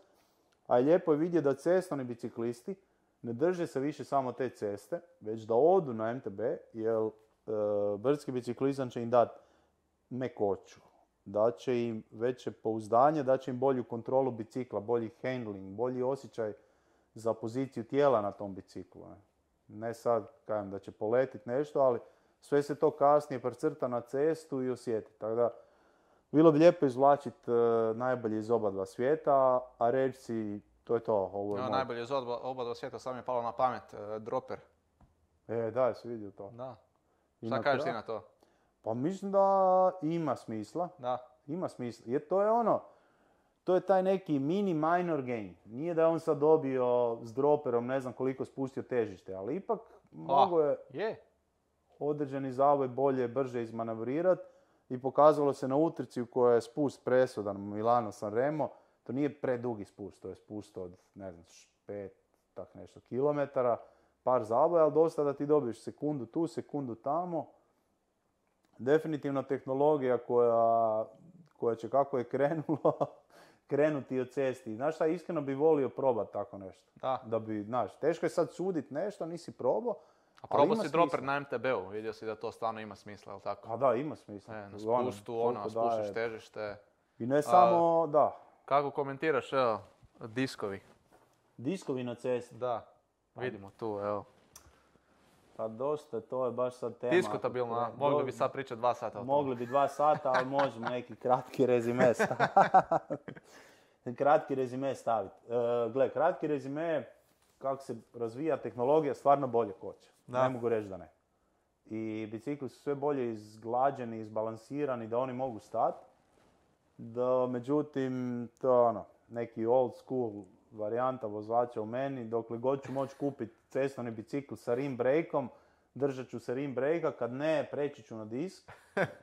a je lijepo je vidjeti da cestovni biciklisti ne drže se više samo te ceste, već da odu na MTB, jer brdski biciklizam će im dati mekoću, da će im veće pouzdanje, da će im bolju kontrolu bicikla, bolji handling, bolji osjećaj za poziciju tijela na tom biciklu. Ne sad kažem da će poletiti nešto, ali sve se to kasnije precrta na cestu i osjeti. Tako da, bilo bi lijepo izvlačiti najbolje iz oba dva svijeta, a reći si, to je to. Ovo je najbolje iz oba dva svijeta, sad mi je palo na pamet, Dropper. Da, si vidio to. Da. Šta kažeš ti na to? Pa mislim da ima smisla. Da. Ima smisla. Jer to je taj neki mini minor gain. Nije da je on sad dobio s droperom ne znam koliko spustio težište, ali ipak mogo je određeni zavoj bolje, brže izmanevrirati i pokazalo se na utrci u kojoj je spust presudan Milano Sanremo. To nije predugi spust, to je spust od ne znam 5 tak nešto kilometara, par zavoja, ali dosta da ti dobiješ sekundu tu, sekundu tamo. Definitivno tehnologija koja će kako je krenulo krenuti od cesti. Znaš šta, iskreno bi volio probati tako nešto. Da bi, znaš, teško je sad suditi nešto, nisi probao. A probao si Dropper na MTB-u, vidio si da to stvarno ima smisla, jel tako? A da, ima smisla. Na spustu, spustiš težište. I ne samo, da. Kako komentiraš, evo, diskovi? Diskovi na cesti? Da, vidimo tu, evo. Pa dosta, to je baš sad tema. Diskutabilno, mogli bi sad pričati 2 sata o tome. Mogli bi 2 sata, ali možemo neki kratki rezime staviti. Gle, kratki rezime, kako se razvija tehnologija, stvarno bolje koče. Ne mogu reći da ne. I bicikli su sve bolje izglađeni, izbalansirani, da oni mogu stati. Međutim, to je neki old school varijanta vozača u meni, dokle god ću moći kupiti cestovni bicikl sa rim breakom, držat ću se rim breaka, kad ne, preći ću na disk.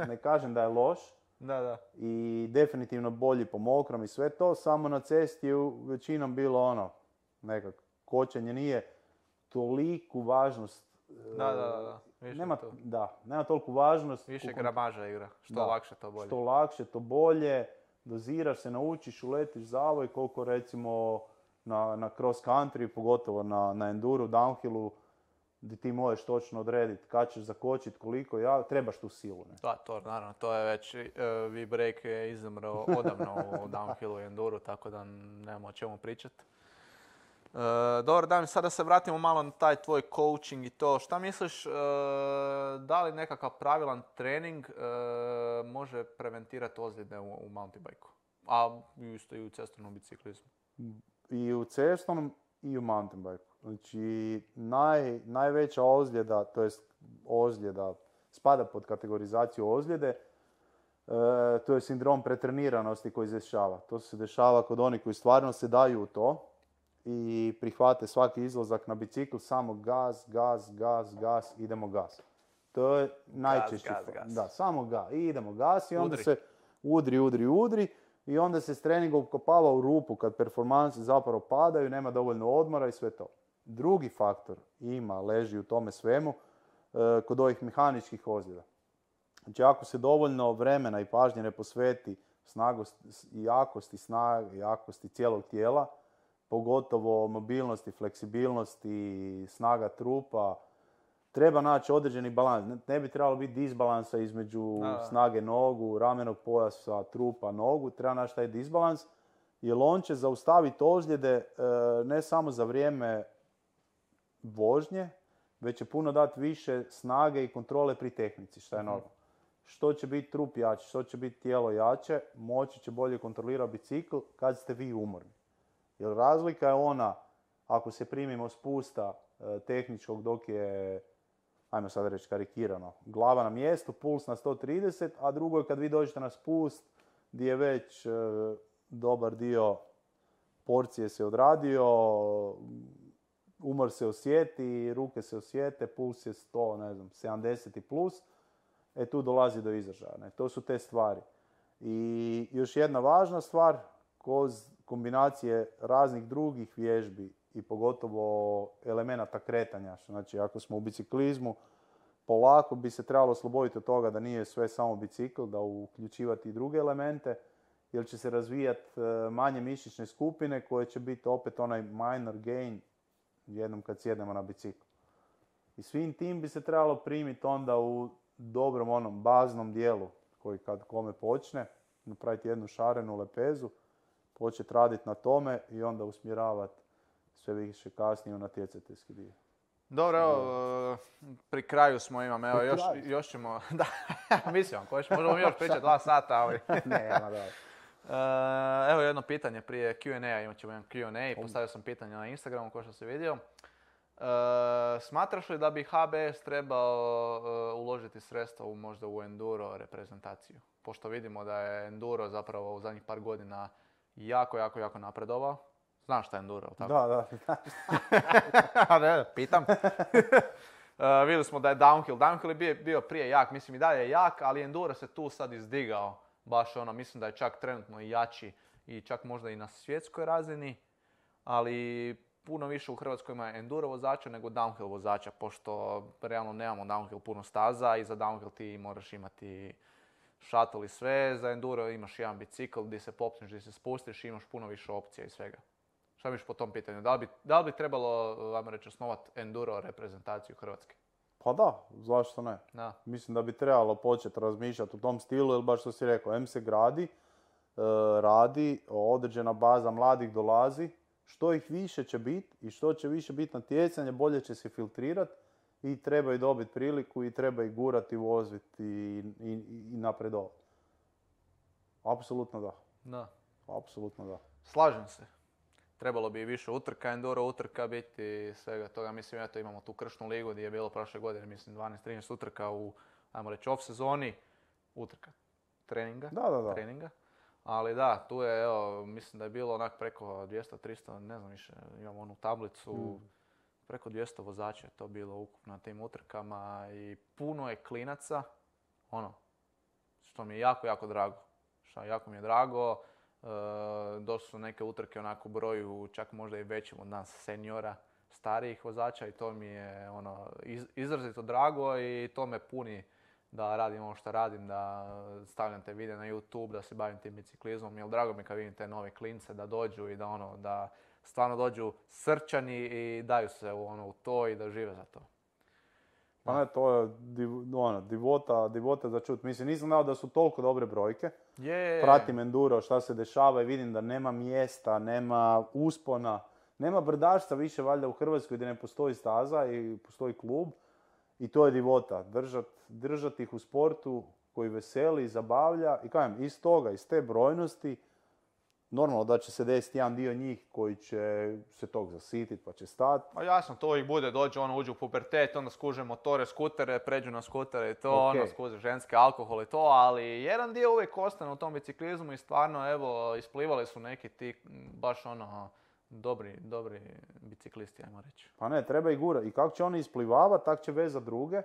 Ne kažem da je loš. Da. I definitivno bolji po mokrom i sve to, samo na cesti je većinom bilo nekak kočenje nije toliku važnost. Da. Nema toliku važnost. Više gramaža igra, lakše to bolje. Što lakše to bolje, doziraš se, naučiš, uletiš zavoj, koliko recimo na cross country, pogotovo na enduru, downhillu, gdje ti možeš točno odrediti kad ćeš zakočiti, koliko, trebaš tu silu. Ne? Da, to naravno, to je već, V-break je izumro odavno u downhillu i enduru, tako da nemamo o čemu pričati. Dobro, Damir, sada se vratimo malo na taj tvoj coaching i to. Šta misliš, da li nekakav pravilan trening može preventirati ozljede u mountain bike-u? A isto i u cestovnom biciklizmu. I u cestovnom i u mountain bike-u. Znači, najveća ozljeda, to jest ozljeda, spada pod kategorizaciju ozljede, to je sindrom pretreniranosti koji se dešava. To se dešava kod onih koji stvarno se daju u to i prihvate svaki izlazak na bicikl, samo gas, idemo gas. To je najčešći. Gas. Da, samo gas. I idemo gas i onda se udri i onda se s treningom ukopava u rupu kad performanse zapravo padaju, nema dovoljno odmora i sve to. Drugi faktor leži u tome svemu kod ovih mehaničkih ozljeda. Znači ako se dovoljno vremena i pažnje ne posveti jakosti cijelog tijela, pogotovo mobilnosti, fleksibilnosti, snaga trupa, treba naći određeni balans. Ne bi trebalo biti disbalansa između snage nogu, ramenog pojasa, trupa, nogu. Treba naći taj disbalans, jer on će zaustaviti ozljede ne samo za vrijeme vožnje, već će puno dati više snage i kontrole pri tehnici, što je normalno. Što će biti trup jači, što će biti tijelo jače, moći će bolje kontrolirati bicikl kad ste vi umorni. Jer razlika je ona, ako se primimo spusta tehničkog dok je, ajmo sad reći karikirano, glava na mjestu, puls na 130, a drugo je kad vi dođete na spust gdje je već dobar dio porcije se odradio, umor se osjeti, ruke se osjete, puls je 100, ne znam, 70 i plus, tu dolazi do izražaja. To su te stvari. I još jedna važna stvar, kroz kombinacije raznih drugih vježbi i pogotovo elemenata kretanja. Znači, ako smo u biciklizmu, polako bi se trebalo osloboditi od toga da nije sve samo bicikl, da uključivati i druge elemente, jer će se razvijati manje mišićne skupine koje će biti opet onaj minor gain jednom kad sjednemo na bicikl. I svim tim bi se trebalo primiti onda u dobrom onom baznom dijelu koji kad kome počne, napraviti jednu šarenu lepezu, početi raditi na tome i onda usmjeravati sve više kasnije u natjecateljski dio. Dobro, evo, pri kraju smo evo, još ćemo, da, mislim, možemo još pričati 2 sata, ali... Nema, da. Evo jedno pitanje prije Q&A, imat ćemo jedan Q&A, postavio sam pitanje na Instagramu, kao što si vidio. Smatraš li da bi HBS trebao uložiti sredstva možda u enduro reprezentaciju? Pošto vidimo da je enduro zapravo u zadnjih par godina jako napredovao. Znaš šta je enduro, tako? Da. Ne, pitam. Vidjeli smo da je downhill. Downhill je bio prije jak, mislim i dalje je jak, ali enduro se tu sad izdigao. Baš ono, mislim da je čak trenutno i jači i čak možda i na svjetskoj razini, ali puno više u Hrvatskoj ima enduro vozača nego downhill vozača, pošto realno nemamo downhill puno staza i za downhill ti moraš imati shuttle i sve, za enduro imaš jedan bicikl gdje se popneš, gdje se spustiš i imaš puno više opcija i svega. Šta misliš po tom pitanju? Da li bi trebalo, ajmo reći, osnovati enduro reprezentaciju Hrvatske? Pa da, zašto ne? Da. Mislim da bi trebalo početi razmišljati u tom stilu, jer baš što si rekao, M se radi, određena baza mladih dolazi, što ih više će biti i što će više biti natjecanje, bolje će se filtrirati i trebaju dobiti priliku i treba ih gurati, voziti i napredovati. Apsolutno da. Da. Apsolutno da. Slažem se. Trebalo bi više utrka, enduro utrka biti, svega toga. Mislim, eto imamo tu kršnu ligu gdje je bilo prošle godine, mislim, 12-13 utrka u, ajmo reći, off sezoni. Utrka treninga. Da. Treninga. Ali da, tu je, evo, mislim da je bilo onak preko 200-300, ne znam više, imamo onu tablicu, preko 200 vozača je to bilo ukupno na tim utrkama i puno je klinaca, ono, što mi je jako drago. Jako mi je drago. Došli su neke utrke onako u broju čak možda i većim od nas seniora, starijih vozača i to mi je ono izrazito drago i to me puni da radim ovo što radim, da stavljam te videe na YouTube, da se bavim tim biciklizmom, jer drago mi kad vidim te nove klince da dođu i da stvarno dođu srčani i daju se u to i da žive za to. Pa ne, to je divota za čut. Mislim, nisam znao da su toliko dobre brojke. Pratim enduro, šta se dešava i vidim da nema mjesta, nema uspona, nema brdašca više valjda u Hrvatskoj gdje ne postoji staza i postoji klub. I to je divota, držati ih u sportu koji veseli, zabavlja i kažem, iz toga, iz te brojnosti, normalno da će se desiti jedan dio njih koji će se tog zasititi pa će stati. Pa jasno, to ih bude, uđu u pubertet, onda skuže motore, skutere, pređu na skutere i to, skuže ženske alkohol i to, ali jedan dio uvijek ostane u tom biciklizmu i stvarno, evo, isplivali su neki ti baš dobri biciklisti, ajmo reći. Pa ne, treba ih gura. I kako će oni isplivavati, tak će vezati druge.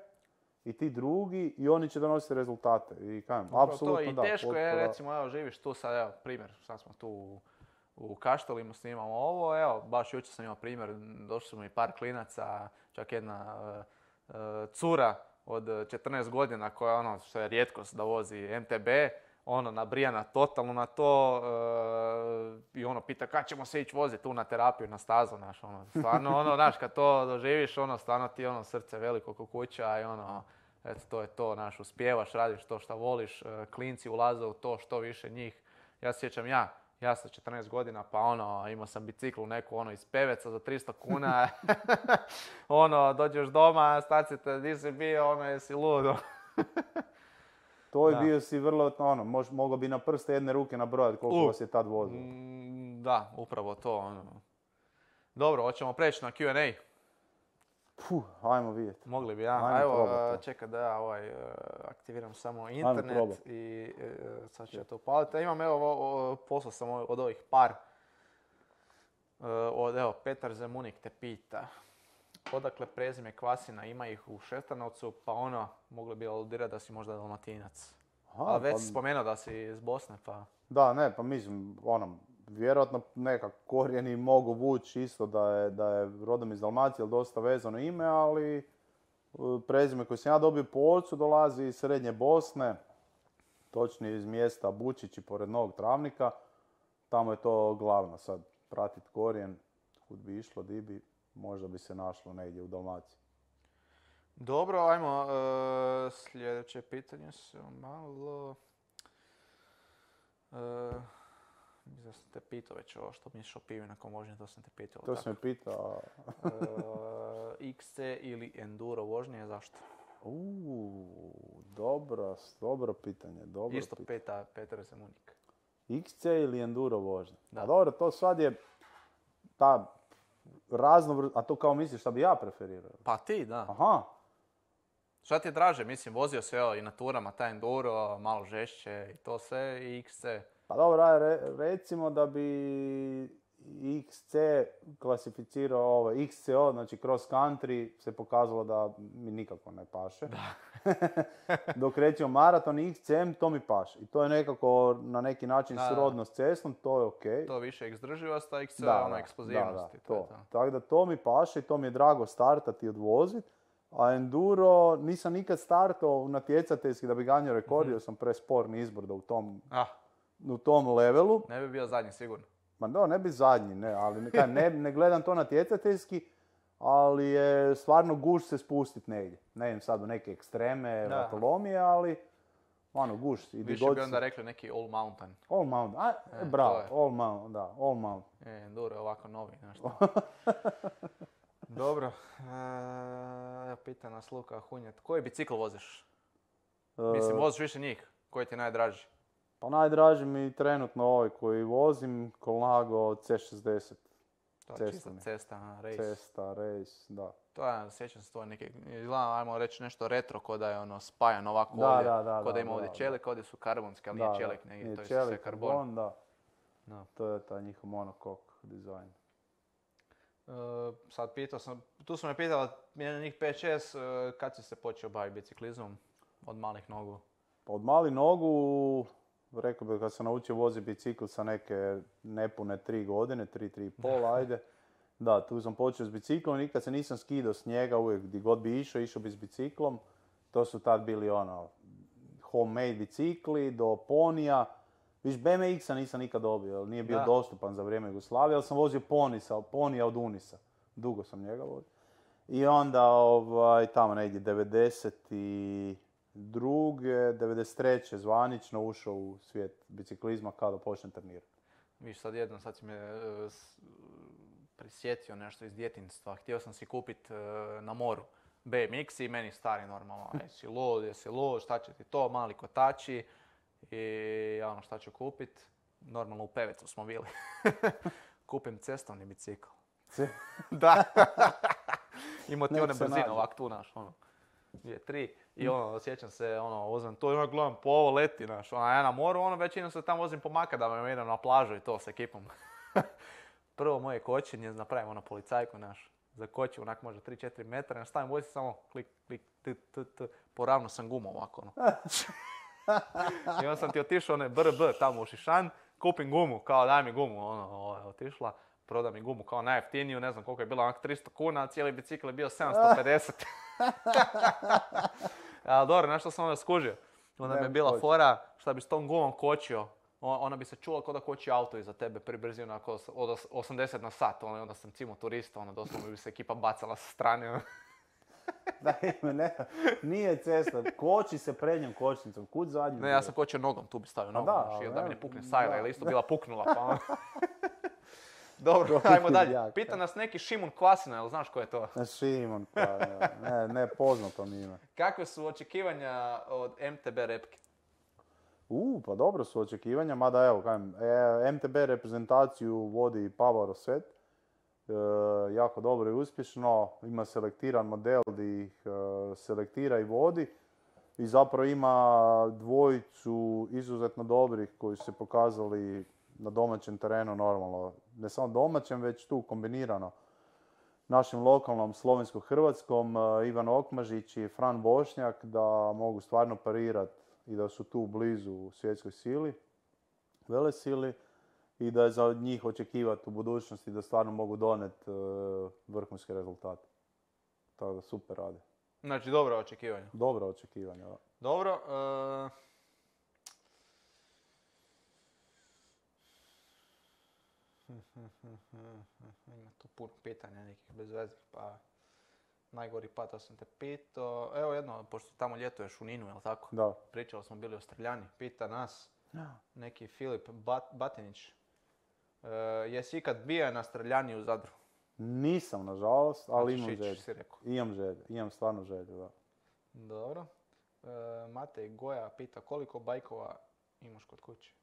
I ti drugi, i oni će donositi rezultate. I kajem, apsolutno da. I teško je, recimo, evo, živiš tu sad, evo, primjer, sad smo tu u Kaštelima, snimamo ovo, evo, baš jučer sam imao primjer, došli smo i par klinaca, čak jedna cura od 14 godina koja ono što je rijetkost da vozi MTB, ono nabrijana totalno na to i ono pita kad ćemo se ići voziti tu na terapiju, na stazu, znaš, ono, stvarno, ono, znaš, kad to doživiš, ono, stvarno ti, ono, srce veliko ko kuća i ono, eto, to je to, znaš, uspijevaš, radiš to što voliš, klinci ulaze u to, što više njih. Ja se sjećam ja sa 14 godina, pa ono, imao sam biciklu neku, ono, iz Peveca za 300 kuna, ono, dođeš doma, stacite, di si bio, ono, jesi ludo. To je Da. bio si vrlo, ono, mogao bi na prste jedne ruke nabrojati koliko vas je tad vozilo. Da, upravo to, ono. Dobro, hoćemo preći na Q&A. Ajmo vidjeti. Mogli bi, ja. Ajmo Evo, probat to. čekaj da ja aktiviram samo internet probat. i sad ću ja to upaliti. Imam, evo, poslao sam od ovih par. Evo, Petar Zemunik te pita. Odakle prezime Kvasina, ima ih u Šestanovcu, pa ono, mogli bi aludirati da si možda Dalmatinac. Ali već si spomenuo da si iz Bosne, pa... Da, ne, pa mislim, ono, vjerojatno nekak korijeni mogu vući isto da je rodom iz Dalmacije, ali dosta vezano ime, ali prezime koje sam ja dobio po ocu dolazi iz srednje Bosne, točnije iz mjesta Bučići pored Novog Travnika. Tamo je to glavno sad, pratit korijen, kud bi išlo, di bi, možda bi se našlo negdje u Dalmaciji. Dobro, ajmo, sljedeće pitanje se malo... Mislim da sam te pitao već ovo što misliš o pivi nakon vožnje, to sam te pitao. To sam me pitao. XC ili enduro vožnje, zašto? Dobro pitanje, dobro Isto pitanje. peta Petar Zemunik. XC ili enduro vožnja? Da. A dobro, to sad je ta a to kao misliš šta bi ja preferirao? Pa ti, da. Aha, Šta ti je draže? Mislim, vozio se i na turama, taj enduro, malo žešće i to sve, i XC. pa dobro, recimo da bi XC klasificirao XCO, znači cross country, se pokazalo da mi nikako ne paše. Dok recimo maraton i XCM, to mi paše. I to je nekako na neki način srodno s cestom, to je okej. To više izdrživost, a XC je ono eksplozivnost. To. Tako da to mi paše i to mi je drago startati i odvoziti. A enduro nisam nikad startao natjecateljski da bi ganjao rekord, jer sam presporni izbor da u tom levelu. Ne bi bio zadnji sigurno. Ma da, ne bi zadnji, ne, ali ne gledam to natjecateljski, ali je stvarno gušt se spustit negdje. Ne idem sad u neke ekstreme, vatolomije, ali ono, gušt. Više bi onda rekli neki all mountain. All mountain, bravo, all mountain. Enduro je ovako novi, nešto. Dobro, pita nas Luka Hunjet, koji bicikl voziš? Mislim, voziš više njih, koji ti je najdraži? Pa najdraži mi trenutno ovaj koji vozim, Colnago C60. To je čista cesta, race. Cesta, race, da. To je, sjećam se to neki, izgleda, ajmo reći nešto retro, ko da je ono spajan ovako ovdje, ko da ima ovdje čelik, ovdje su karbonski, ali nije čelik, negdje, to je sve karbon. Da. To je taj njihov monokok dizajn. Sad pitao sam, tu su me pitali, njih 5-6, kad si se počeo baviti biciklizmom od malih nogu? Pa od malih nogu, rekao bih kad sam naučio voziti bicikl sa neke nepune 3 godine, 3,5, ajde. Da, tu sam počeo s biciklom i nikad se nisam skidao s njega, uvijek gdje god bi išao bi s biciklom. To su tad bili homemade bicikli do ponija. Viš, BMX-a nisam nikad dobio, jer nije bio dostupan za vrijeme Jugoslavije, ali sam vozio ponija od Unisa. Dugo sam njega vozio. I onda tamo negdje 92. 93. zvanično ušao u svijet biciklizma kada počnem trenirati. Viš, sad si me prisjetio nešto iz djetinjstva. Htio sam si kupiti na moru BMX i meni stari normalno. Jesi lud, šta će ti to, mali kotači. I ono šta ću kupit, normalno u Pevecu smo bili. Kupim cestovni bicikl. Da. Imao ti one brzine ovak tu, naš, 2, 3. I sjećam se, uzmem to i gledam po ovo leti, naš, ja na moru, većinom se tamo vozim po makadama, idem na plažu i to s ekipom. Prvo moje kočenje, napravim policajku, naš, za kočiju, onak može 3-4 metra, stavim voziti samo klik, poravno sam gumu ovako, I onda sam ti otišao brb tamo u Šišan, kupim gumu, kao daj mi gumu, otišla. proda mi gumu kao najjeftiniju, ne znam koliko je bilo, onak 300 kuna, a cijeli bicikl je bio 750. Ali dobro, znaš što sam onda skužio? Onda mi je bila fora, šta bi s tom gumom kočio, ona bi se čula kao da koči auto iza tebe pri brzinu od 80 na sat, onda sam cimo turista, doslovno bi se ekipa bacala sa strane. Da, nije cesta, koči se prednjom kočnicom, kud zadnju? Ne, ja sam kočio nogom, tu bi stavio nogom, da mi ne pukne sajla, ili isto bila puknula, pa Dobro, ajmo dalje. Pita nas neki Šimon Kvasina, jel znaš ko je to? Šimon, pa ne, poznato mi ime. Kakve su očekivanja od MTB repke? Pa dobro su očekivanja, mada evo, kažem, MTB reprezentaciju vodi Pavao Rosset. Jako dobro i uspješno, ima selektiran model gdje ih selektira i vodi. I zapravo ima dvojicu izuzetno dobrih koji su se pokazali na domaćem terenu normalno. Ne samo domaćem, već tu kombinirano. Našim lokalnom slovensko-hrvatskom, Ivan Okmažić i Fran Bošnjak, da mogu stvarno parirati i da su tu blizu svjetskoj sili, velesili, i da je za njih očekivati u budućnosti da stvarno mogu doneti vrhunske rezultate. Tako da super rade. Znači dobro očekivanja. Dobro očekivanja, da. Dobro. Ima tu puno pitanja nekih bezveznih, pa najgori pata sam te pitao. Evo jedno, pošto tamo ljetuješ u Ninu, jel tako? Da. Pričali smo bili o streljani. Pita nas neki Filip Batinić. Jesi ikad bio na streljani u Zadru? Nisam, nažalost, ali imam želju. Si rekao. Imam želju, imam stvarno želju, da. Dobro. Matej Goja pita koliko bajkova imaš kod kuće?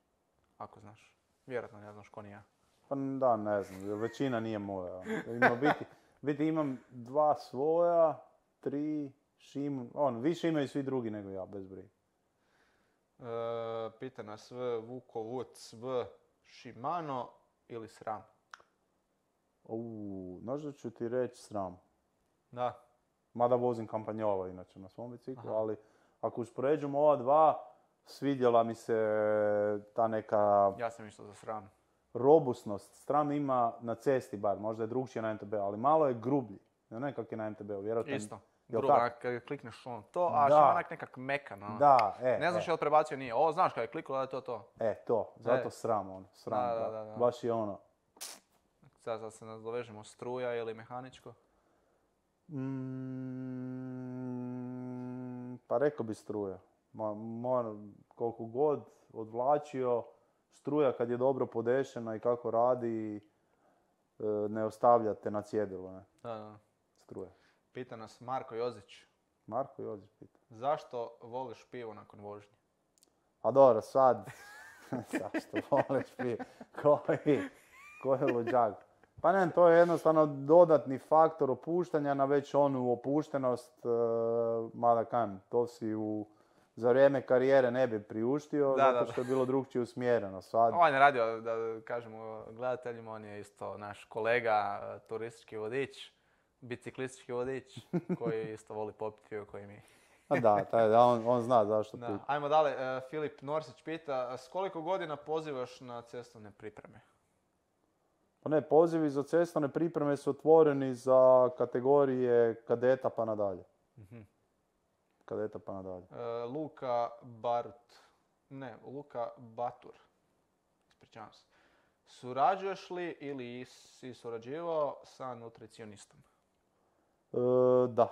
Ako znaš. Vjerojatno ne znaš ko ni ja. Pa da, ne znam, većina nije moja. Biti imam 2 svoja, 3 više imaju svi drugi nego ja, bez brige. Pita nas Vuko Vuc Shimano ili SRAM? Možda ću ti reći SRAM. Da. Mada vozim kampanjola inače na svom biciklu, ali ako uspoređujemo ova dva, svidjela mi se ta neka... Ja sam išao za SRAM. Robustnost. SRAM ima na cesti bar, možda je drugčije na MTB, ali malo je grublji. Ne kako je na MTB-u, vjerojatno. Isto. Grubo, kad klikneš to, a što onak nekak mekan. Da, ne znaš je li prebacio nije. Ovo znaš kad je kliklo da je to. To. Zato SRAM, SRAM, da. Baš je ono. Sad se nadovežemo struja ili mehaničko? Pa rekao bi struja. Koliko god odvlačio, struja kad je dobro podešena i kako radi, ne ostavljate na cjedilu, ne? Da. Struja. Pita nas Marko Jozić. Marko Jozić pita. Zašto voliš pivo nakon vožnje? A dobro, sad... Zašto voliš pivo? Koji luđak? Pa ne, to je jednostavno dodatni faktor opuštanja na već onu opuštenost, mada kajem, to si za vrijeme karijere ne bi priuštio, zato što je bilo drugčije usmjereno. Sad... On je radio, da kažemo gledateljima, on je isto naš kolega, turistički vodič, biciklistički vodič, koji isto voli popiti pivo koji mi. On zna zašto pita. Ajmo dalje, Filip Norsić pita, s koliko godina pozivaš na cestovne pripreme? Pa ne, pozivi za cestovne pripreme su otvoreni za kategorije kadeta pa nadalje. Kadeta pa nadalje. Luka Batur. Ispričavam se. Surađuješ li ili si surađivao sa nutricionistom? Da.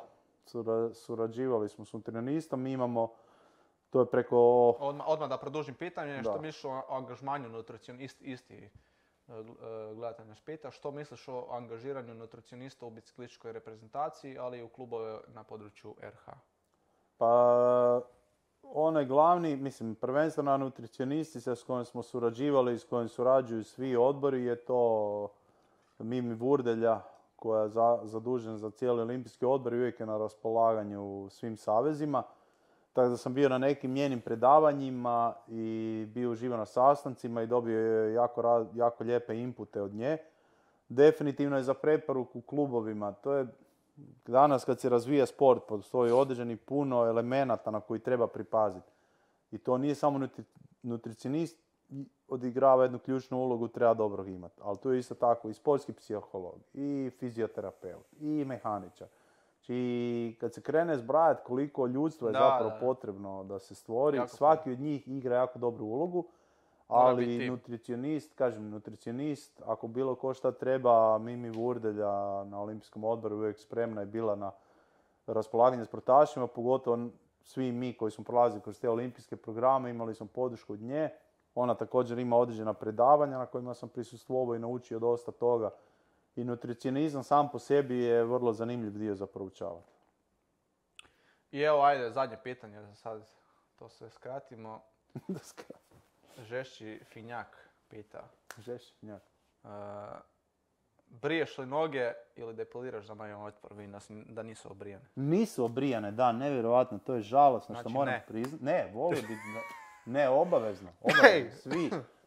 Surađivali smo s nutricionistom. Mi imamo, to je preko... Odmah da produžim pitanje, što misliš o angažmanju nutricionista, isti gledatelj nas pita, što misliš o angažiranju nutricionista u biciklističkoj reprezentaciji, ali i u klubove na području RH? Pa, onaj glavni, prvenstveno nutricionisti s kojim smo surađivali i s kojim surađuju svi odbori je to Mimi Vurdelja, koja je zadužena za cijeli olimpijski odbor i uvijek je na raspolaganju svim savezima. Tako da sam bio na nekim njenim predavanjima i bio uživo na sastancima i dobio je jako lijepe inpute od nje. Definitivno je za preporuku klubovima. To je danas kad se razvija sport, postoji određeni puno elemenata na koji treba pripaziti. I to nije samo nutricionist odigrava jednu ključnu ulogu, treba dobro imati. Ali tu je isto tako i sportski psiholog, i fizioterapeut, i mehaničar. Znači, kad se krene zbrajati koliko ljudstva je zapravo potrebno da se stvori, svaki od njih igra jako dobru ulogu, ali nutricionist, ako bilo ko šta treba, Mimi Vurdelja na Olimpijskom odboru uvijek spremna je bila na raspolaganje sportašima, pogotovo svi mi koji smo prolazili kroz te olimpijske programe, imali smo podršku od nje. Ona također ima određena predavanja na kojima sam prisustvovao i naučio dosta toga. I nutricionizam sam po sebi je vrlo zanimljiv dio za proučavati. I evo, ajde, zadnje pitanje, da sad to sve skratimo. Žešći Finjak pita. Žešći Finjak. Briješ li noge ili depiliraš za moj otpor? Vidim da nisu obrijane. Nisu obrijane, da, nevjerojatno, to je žalosno znači, što moram priznati. Ne, voli biti, ne, obavezno.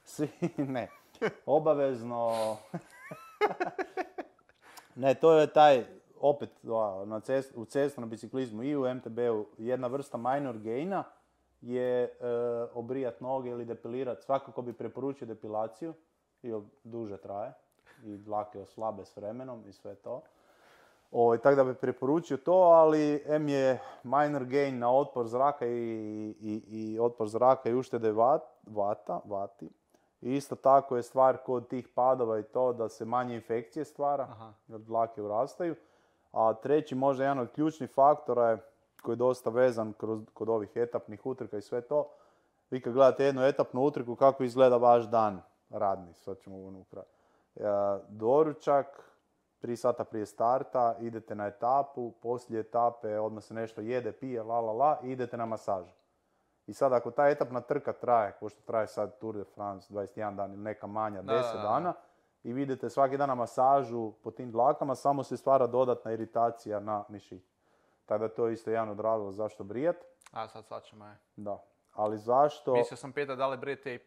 Svi, ne. Obavezno. Ne, to je taj, opet, u cestovnom biciklizmu i u MTB-u, jedna vrsta minor gaina je obrijat noge ili depilirat. Svakako bi preporučio depilaciju, jer duže traje i dlake oslabe s vremenom i sve to. Tako da bi preporučio to, ali M je minor gain na otpor zraka i otpor zraka i uštede vati. I isto tako je stvar kod tih padova i to da se manje infekcije stvara, jer dlake urastaju. A treći, možda jedan od ključnih faktora je, koji je dosta vezan kod ovih etapnih utrka i sve to. Vi kad gledate jednu etapnu utrku, kako izgleda vaš dan radni, sad ćemo unutra. Doručak, 3 sata prije starta, idete na etapu, poslije etape odmah se nešto jede, pije, i idete na masažu. I sad ako ta etapna trka traje, ko što traje sad Tour de France, 21 dan ili neka manja, 10 dana, i vidite svaki dan na masažu po tim dlakama, samo se stvara dodatna iritacija na mišić. Tako da to je isto jedan od razloga zašto brijat. A sad svačamo je. Da. Ali zašto... Mislio sam pitati da li brijete i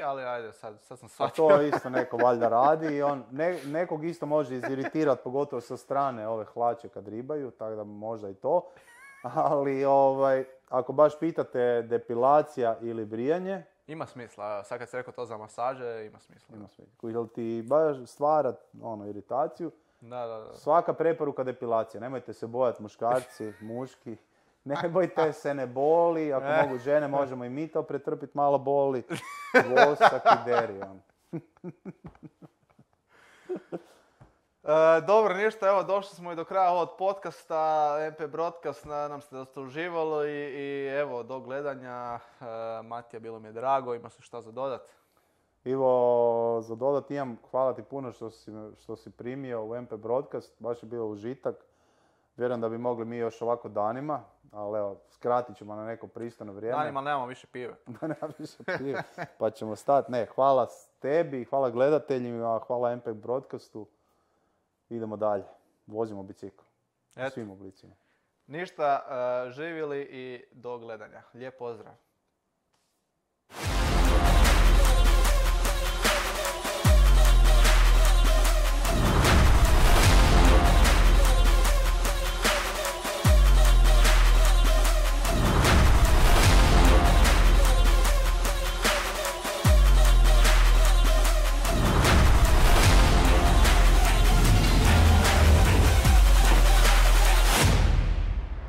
ali ajde, sad sam shvatio. A to isto neko valjda radi i on nekog isto može iziritirati, pogotovo sa strane ove hlače kad ribaju, tako da možda i to. Ali ako baš pitate depilacija ili brijanje... Ima smisla, sad kad si rekao to za masaže, ima smisla. Ima smisla. Jel ti baš stvara iritaciju? Da. Svaka preporuka depilacija, nemojte se bojati muškarci, muški. Ne bojte se, ne boli, ako mogu žene, možemo i mi to pretrpiti, malo boli. Vosak i deri. Dobro, ništa, evo došli smo i do kraja ovog podcasta, MP Broadcast, nadam se da ste uživali i evo, do gledanja. Matija, bilo mi je drago, ima se šta za dodat? Ivo, za dodat imam, hvala ti puno što si primio u MP Broadcast, baš je bilo užitak. Vjerujem da bi mogli mi još ovako danima, ali evo, skratit ćemo na neko pristojno vrijeme. Danima nemamo više pive. Nema više pive, pa ćemo stati. Ne, hvala tebi, hvala gledateljima, hvala MP Broadcastu. Idemo dalje, vozimo bicikl u svim oblicima. Ništa, živjeli i do gledanja. Lijep pozdrav.